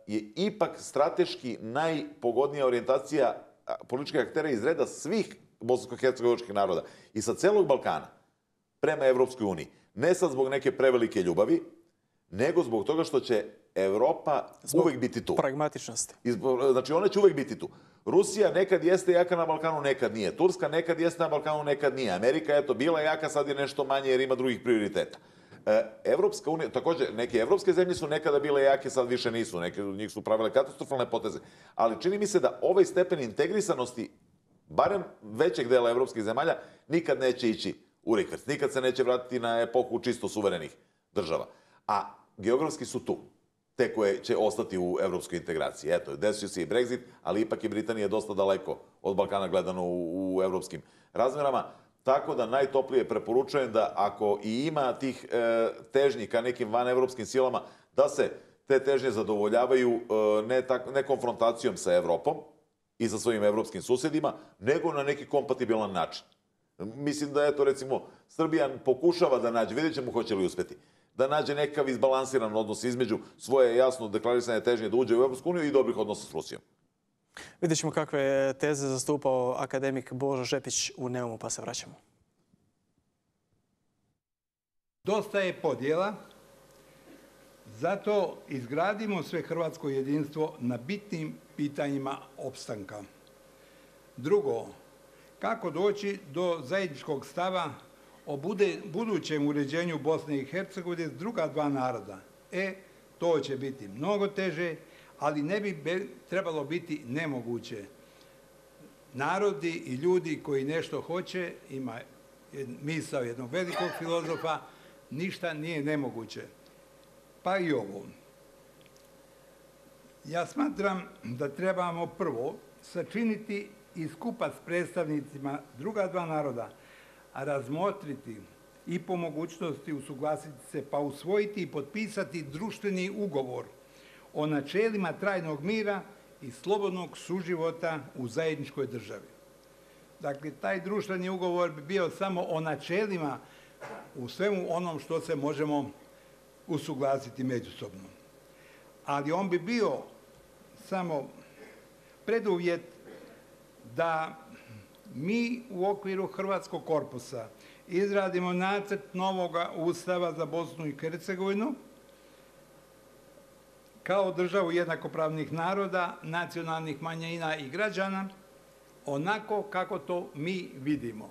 je ipak strateški najpogodnija orijentacija političkih aktera iz reda svih bosansko-hercegovačkih naroda i sa celog Balkana prema Evropskoj uniji. Ne sad zbog neke prevelike ljubavi, nego zbog toga što će Evropa uvek biti tu. Zbog pragmatičnosti. Znači, ona će uvek biti tu. Rusija nekad jeste jaka na Balkanu, nekad nije. Turska nekad jeste na Balkanu, nekad nije. Amerika, eto, bila jaka, sad je nešto manje jer ima drugih prioriteta. Evropska unija, takođe, neke evropske zemlje su nekada bile jake, sad više nisu. Neke od njih su pravile katastrofalne poteze. Ali čini mi se da ovaj stepen integrisanosti, barem većeg dela evropskih zemalja, nikad neće ići u rikverc. Nikad se neće vratiti na epohu čisto suverenih država. A geografski su tu. te koje će ostati u evropskoj integraciji. Eto, desio se i Brexit, ali ipak je Britanija dosta daleko od Balkana gledano u evropskim razmerama. Tako da najtoplije preporučujem da ako i ima tih težnji ka nekim vanevropskim silama, da se te težnje zadovoljavaju ne konfrontacijom sa Evropom i sa svojim evropskim susedima, nego na neki kompatibilan način. Mislim da, eto, recimo, Srbija pokušava da nađe, vidjet ćemo hoće li uspeti, da nađe nekav izbalansiran odnos između svoje jasno deklarisane težnje da uđe u Evropsku uniju i dobrih odnosa s Rusijom. Vidjet ćemo kakve je teze zastupao akademik Božo Žepić u Neumu, pa se vraćamo. Dosta je podjela, zato izgradimo sve hrvatsko jedinstvo na bitnim pitanjima opstanka. Drugo, kako doći do zajedničkog stava o budućem uređenju Bosne i Hercegovine s druga dva naroda. To će biti mnogo teže, ali ne bi trebalo biti nemoguće. Narodi i ljudi koji nešto hoće, ima misao jednog velikog filozofa, ništa nije nemoguće. Pa i ovo. Ja smatram da trebamo prvo sačiniti i skupa s predstavnicima druga dva naroda, a razmotriti i po mogućnosti usuglasiti se pa usvojiti i potpisati društveni ugovor o načelima trajnog mira i slobodnog suživota u zajedničkoj državi. Dakle, taj društveni ugovor bi bio samo o načelima u svemu onom što se možemo usuglasiti međusobno. Ali on bi bio samo preduvjet da mi u okviru Hrvatskog korpusa izradimo nacrt novoga Ustava za Bosnu i Hercegovinu kao državu jednakopravnih naroda, nacionalnih manjina i građana, onako kako to mi vidimo.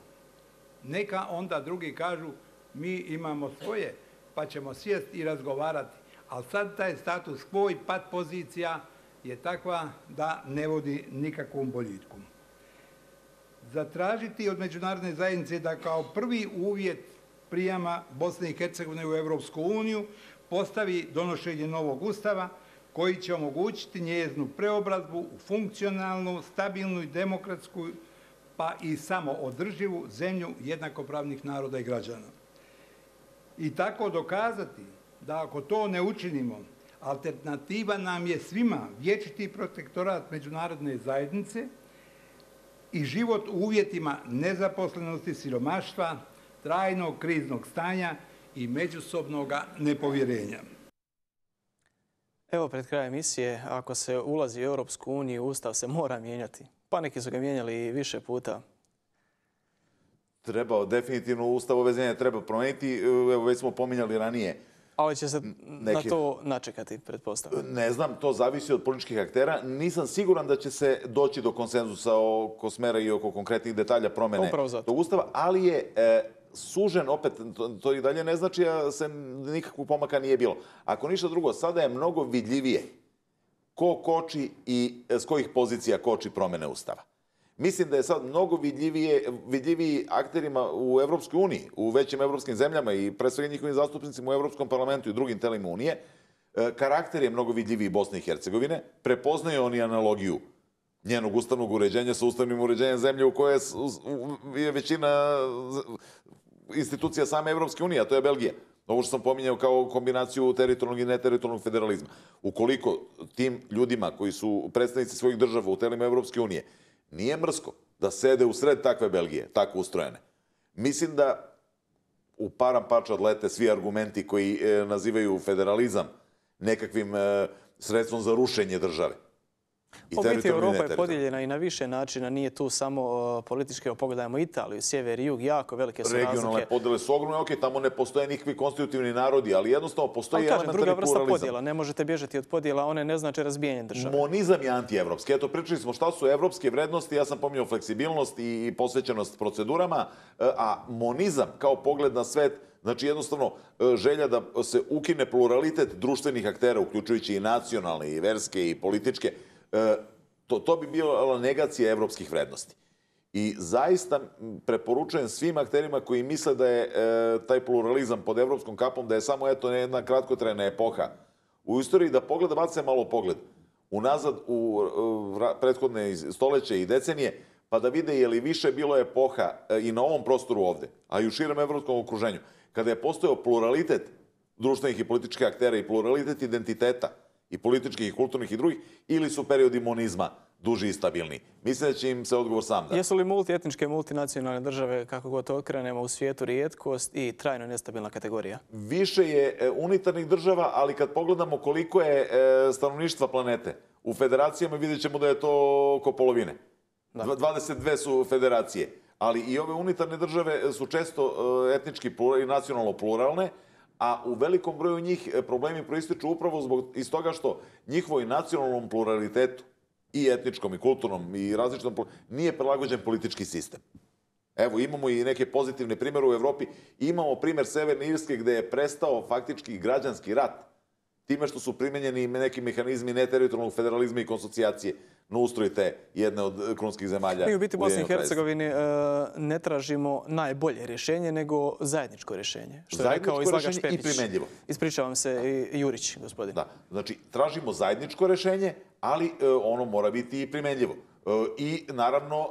Neka onda drugi kažu mi imamo svoje, pa ćemo sjesti i razgovarati. Ali sad taj status quo i pat pozicija je takva da ne vodi nikakvom boljitku. Zatražiti od međunarodne zajednice da kao prvi uvjet prijama Bosne i Hercegovine u Europsku uniju postavi donošenje novog ustava koji će omogućiti njezinu preobrazbu u funkcionalnu, stabilnu i demokratsku, pa i samoodrživu zemlju jednakopravnih naroda i građana. I tako dokazati da ako to ne učinimo, alternativa nam je svima vječiti protektorat međunarodne zajednice i život u uvjetima nezaposlenosti, siromaštva, trajnog kriznog stanja i međusobnog nepovjerenja. Evo, pred krajem emisije, ako se ulazi u Europsku uniju, Ustav se mora mijenjati. Pa neki su ga mijenjali više puta. Treba, definitivno Ustav ove zemlje treba promijeniti. Evo, već smo pominjali ranije. Ali će se na to načekati, pretpostavljam. Ne znam, to zavisi od političkih aktera. Nisam siguran da će se doći do konsenzusa oko smera i oko konkretnih detalja promjene tog Ustava, ali je sužen, opet, to i dalje ne znači da se nikakvog pomaka nije bilo. Ako ništa drugo, sada je mnogo vidljivije ko koči i s kojih pozicija koči promjene Ustava. Mislim da je sad mnogo vidljiviji akterima u Evropskoj uniji, u većim evropskim zemljama i pre svega njihovim zastupnicima u Evropskom parlamentu i drugim telima Unije. Karakter je mnogo vidljiviji Bosne i Hercegovine. Prepoznaju oni analogiju njenog ustavnog uređenja sa ustavnim uređenjem zemlje u kojoj je većina institucija same Evropske unije, a to je Belgija. Ovo što sam pominjao kao kombinaciju teritorijalnog i neteritorijalnog federalizma. Ukoliko tim ljudima koji su predstavnici svojih država u telima Evropske unije nije mrsko da sede u sred takve Belgije, tako ustrojene, mislim da u param parča odlete svi argumenti koji nazivaju federalizam nekakvim sredstvom za rušenje države. U biti Europa je podijeljena i na više načina, nije tu samo politički, pogledajmo Italiju, sjever i jug, jako velike su razlike. Regionalne podjele su ogromne, ok, tamo ne postoje nikakvi konstitutivni narodi, ali jednostavno postoji elementarni druga vrsta pluralizam. podjela, ne možete bježati od podjela, one ne znače razbijanje države. Monizam je antievropski. Eto, pričali smo šta su evropske vrednosti, ja sam pominjao fleksibilnost i posvećenost procedurama, a monizam kao pogled na svet, znači jednostavno želja da se ukine pluralitet društvenih aktera, uključujući i nacionalne, i verske, i političke, to bi bila negacija evropskih vrednosti. I zaista preporučujem svim akterima koji misle da je taj pluralizam pod evropskom kapom, da je samo jedna kratkotrajna epoha u istoriji da bace malo pogled unazad u prethodne stoljeće i decenije, pa da vide je li više bilo epoha i na ovom prostoru ovde, a i u širem evropskom okruženju, kada je postojao pluralitet društvenih i političkih aktera i pluralitet identiteta i političkih i kulturnih i drugih, ili su periodi monizma duži i stabilni. Mislim da će im se odgovor sam dati. Jesu li multietničke, multinacionalne države, kako god to okrenemo, u svijetu rijetkost i trajno nestabilna kategorija? Više je unitarnih država, ali kad pogledamo koliko je stanovništva planete, u federacijama vidjet ćemo da je to oko polovine. 22 su federacije, ali i ove unitarne države su često etnički i nacionalno pluralne, a u velikom broju njih problemi proističu upravo iz toga što njihovoj nacionalnom pluralitetu i etničkom i kulturnom i različitom nije prilagođen politički sistem. Evo, imamo i neke pozitivne primjere u Evropi. Imamo primjer Severne Irske gde je prestao faktički građanski rat time što su primenjeni neki mehanizmi neteritorijalnog federalizma i konsocijacije na ustroj te jedne od krunskih zemalja. Mi u biti u Bosni i Hercegovini ne tražimo najbolje rješenje, nego zajedničko rješenje. Što je rekao izlagač Pepić. I primenljivo. Ispričavam se, i Jurić, gospodin. Da, znači tražimo zajedničko rješenje, ali ono mora biti i primenljivo. I naravno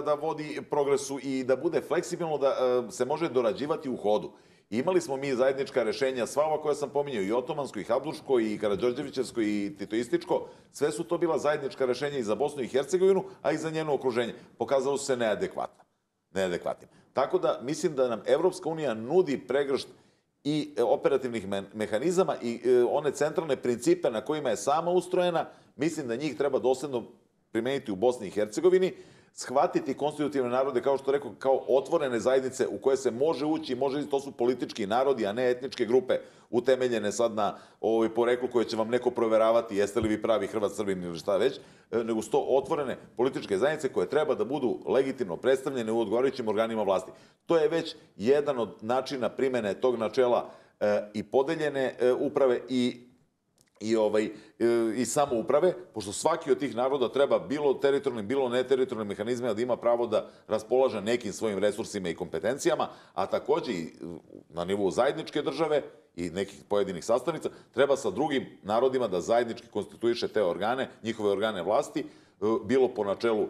da vodi progresu i da bude fleksibilno, da se može dorađivati u hodu. Imali smo mi zajednička rješenja, sva ova koja sam pominjao, i otomansko, i habsburško, i karađorđevićevsko, i titoističko, sve su to bila zajednička rješenja i za Bosnu i Hercegovinu, a i za njeno okruženje. Pokazalo su se neadekvatnim. Tako da mislim da nam Evropska unija nudi pregršt i operativnih mehanizama i one centralne principe na kojima je sama ustrojena, mislim da njih treba dosledno primeniti u Bosni i Hercegovini, shvatiti konstitutivne narode, kao što rekao, kao otvorene zajednice u koje se može ući, to su politički narodi, a ne etničke grupe utemeljene sad na poreklu koje će vam neko proveravati jeste li vi pravi Hrvat, Srbin ili šta već, nego su to otvorene političke zajednice koje treba da budu legitimno predstavljene u odgovarajućim organima vlasti. To je već jedan od načina primene tog načela i podeljene uprave i samouprave, pošto svaki od tih naroda treba bilo teritorijalnim, bilo neteritorijalnim mehanizmima da ima pravo da raspolaže nekim svojim resursima i kompetencijama, a takođe i na nivou zajedničke države i nekih pojedinih sastavnica, treba sa drugim narodima da zajednički konstituiše te organe, njihove organe vlasti, bilo po načelu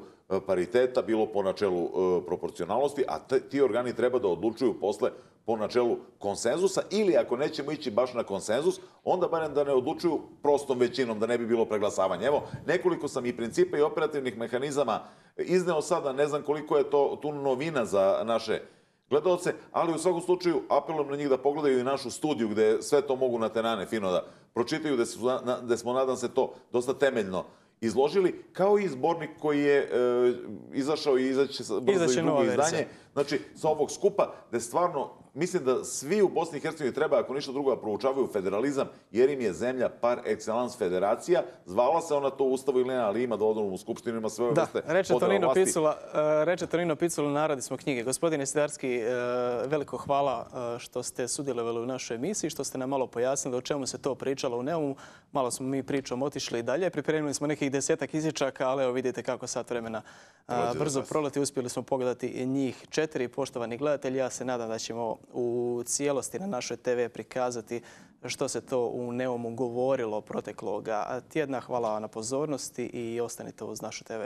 pariteta, bilo po načelu proporcionalnosti, a ti organi treba da odlučuju posle po načelu konsenzusa, ili ako nećemo ići baš na konsenzus, onda barem da ne odlučuju prostom većinom, da ne bi bilo preglasavanja. Evo, nekoliko sam i principa i operativnih mehanizama izneo sada, ne znam koliko je to tu novina za naše gledalce, ali u svakom slučaju apelujem na njih da pogledaju i našu studiju gde sve to mogu na tenane fino da pročitaju, gde smo, nadam se, to dosta temeljno izložili, kao i zbornik koji je izašao i izaće brzo i drugo izdanje. Znači, sa ovog skupa, gde stvarno, mislim da svi u Bosni i Hercegovini treba, ako ništa drugo, da proučavaju federalizam, jer im je zemlja par excellence federacija. Zvala se ona to u Ustavu ili ne, ali ima dodanu u Skupštinu, ima sve ove vrste podela vlasti. Reče Tonino Picula, narodi smo knjige. Gospodine Sidarski, veliko hvala što ste sudjelovali u našoj emisiji, što ste nam malo pojasnili o čemu se to pričalo u Neumu. Malo smo mi pričom otišli dalje. Pripremili smo nekih 10-ak izječaka, ali evo vidite kako sat vremena brzo proleti. Uspjeli smo pogledati njih 4. Poštovani gledatelji, ja se nadam da ćemo u cijelosti na našoj TV prikazati što se to u Neumu govorilo protekloga tjedna. Hvala vam na pozornosti i ostanite uz našu TV.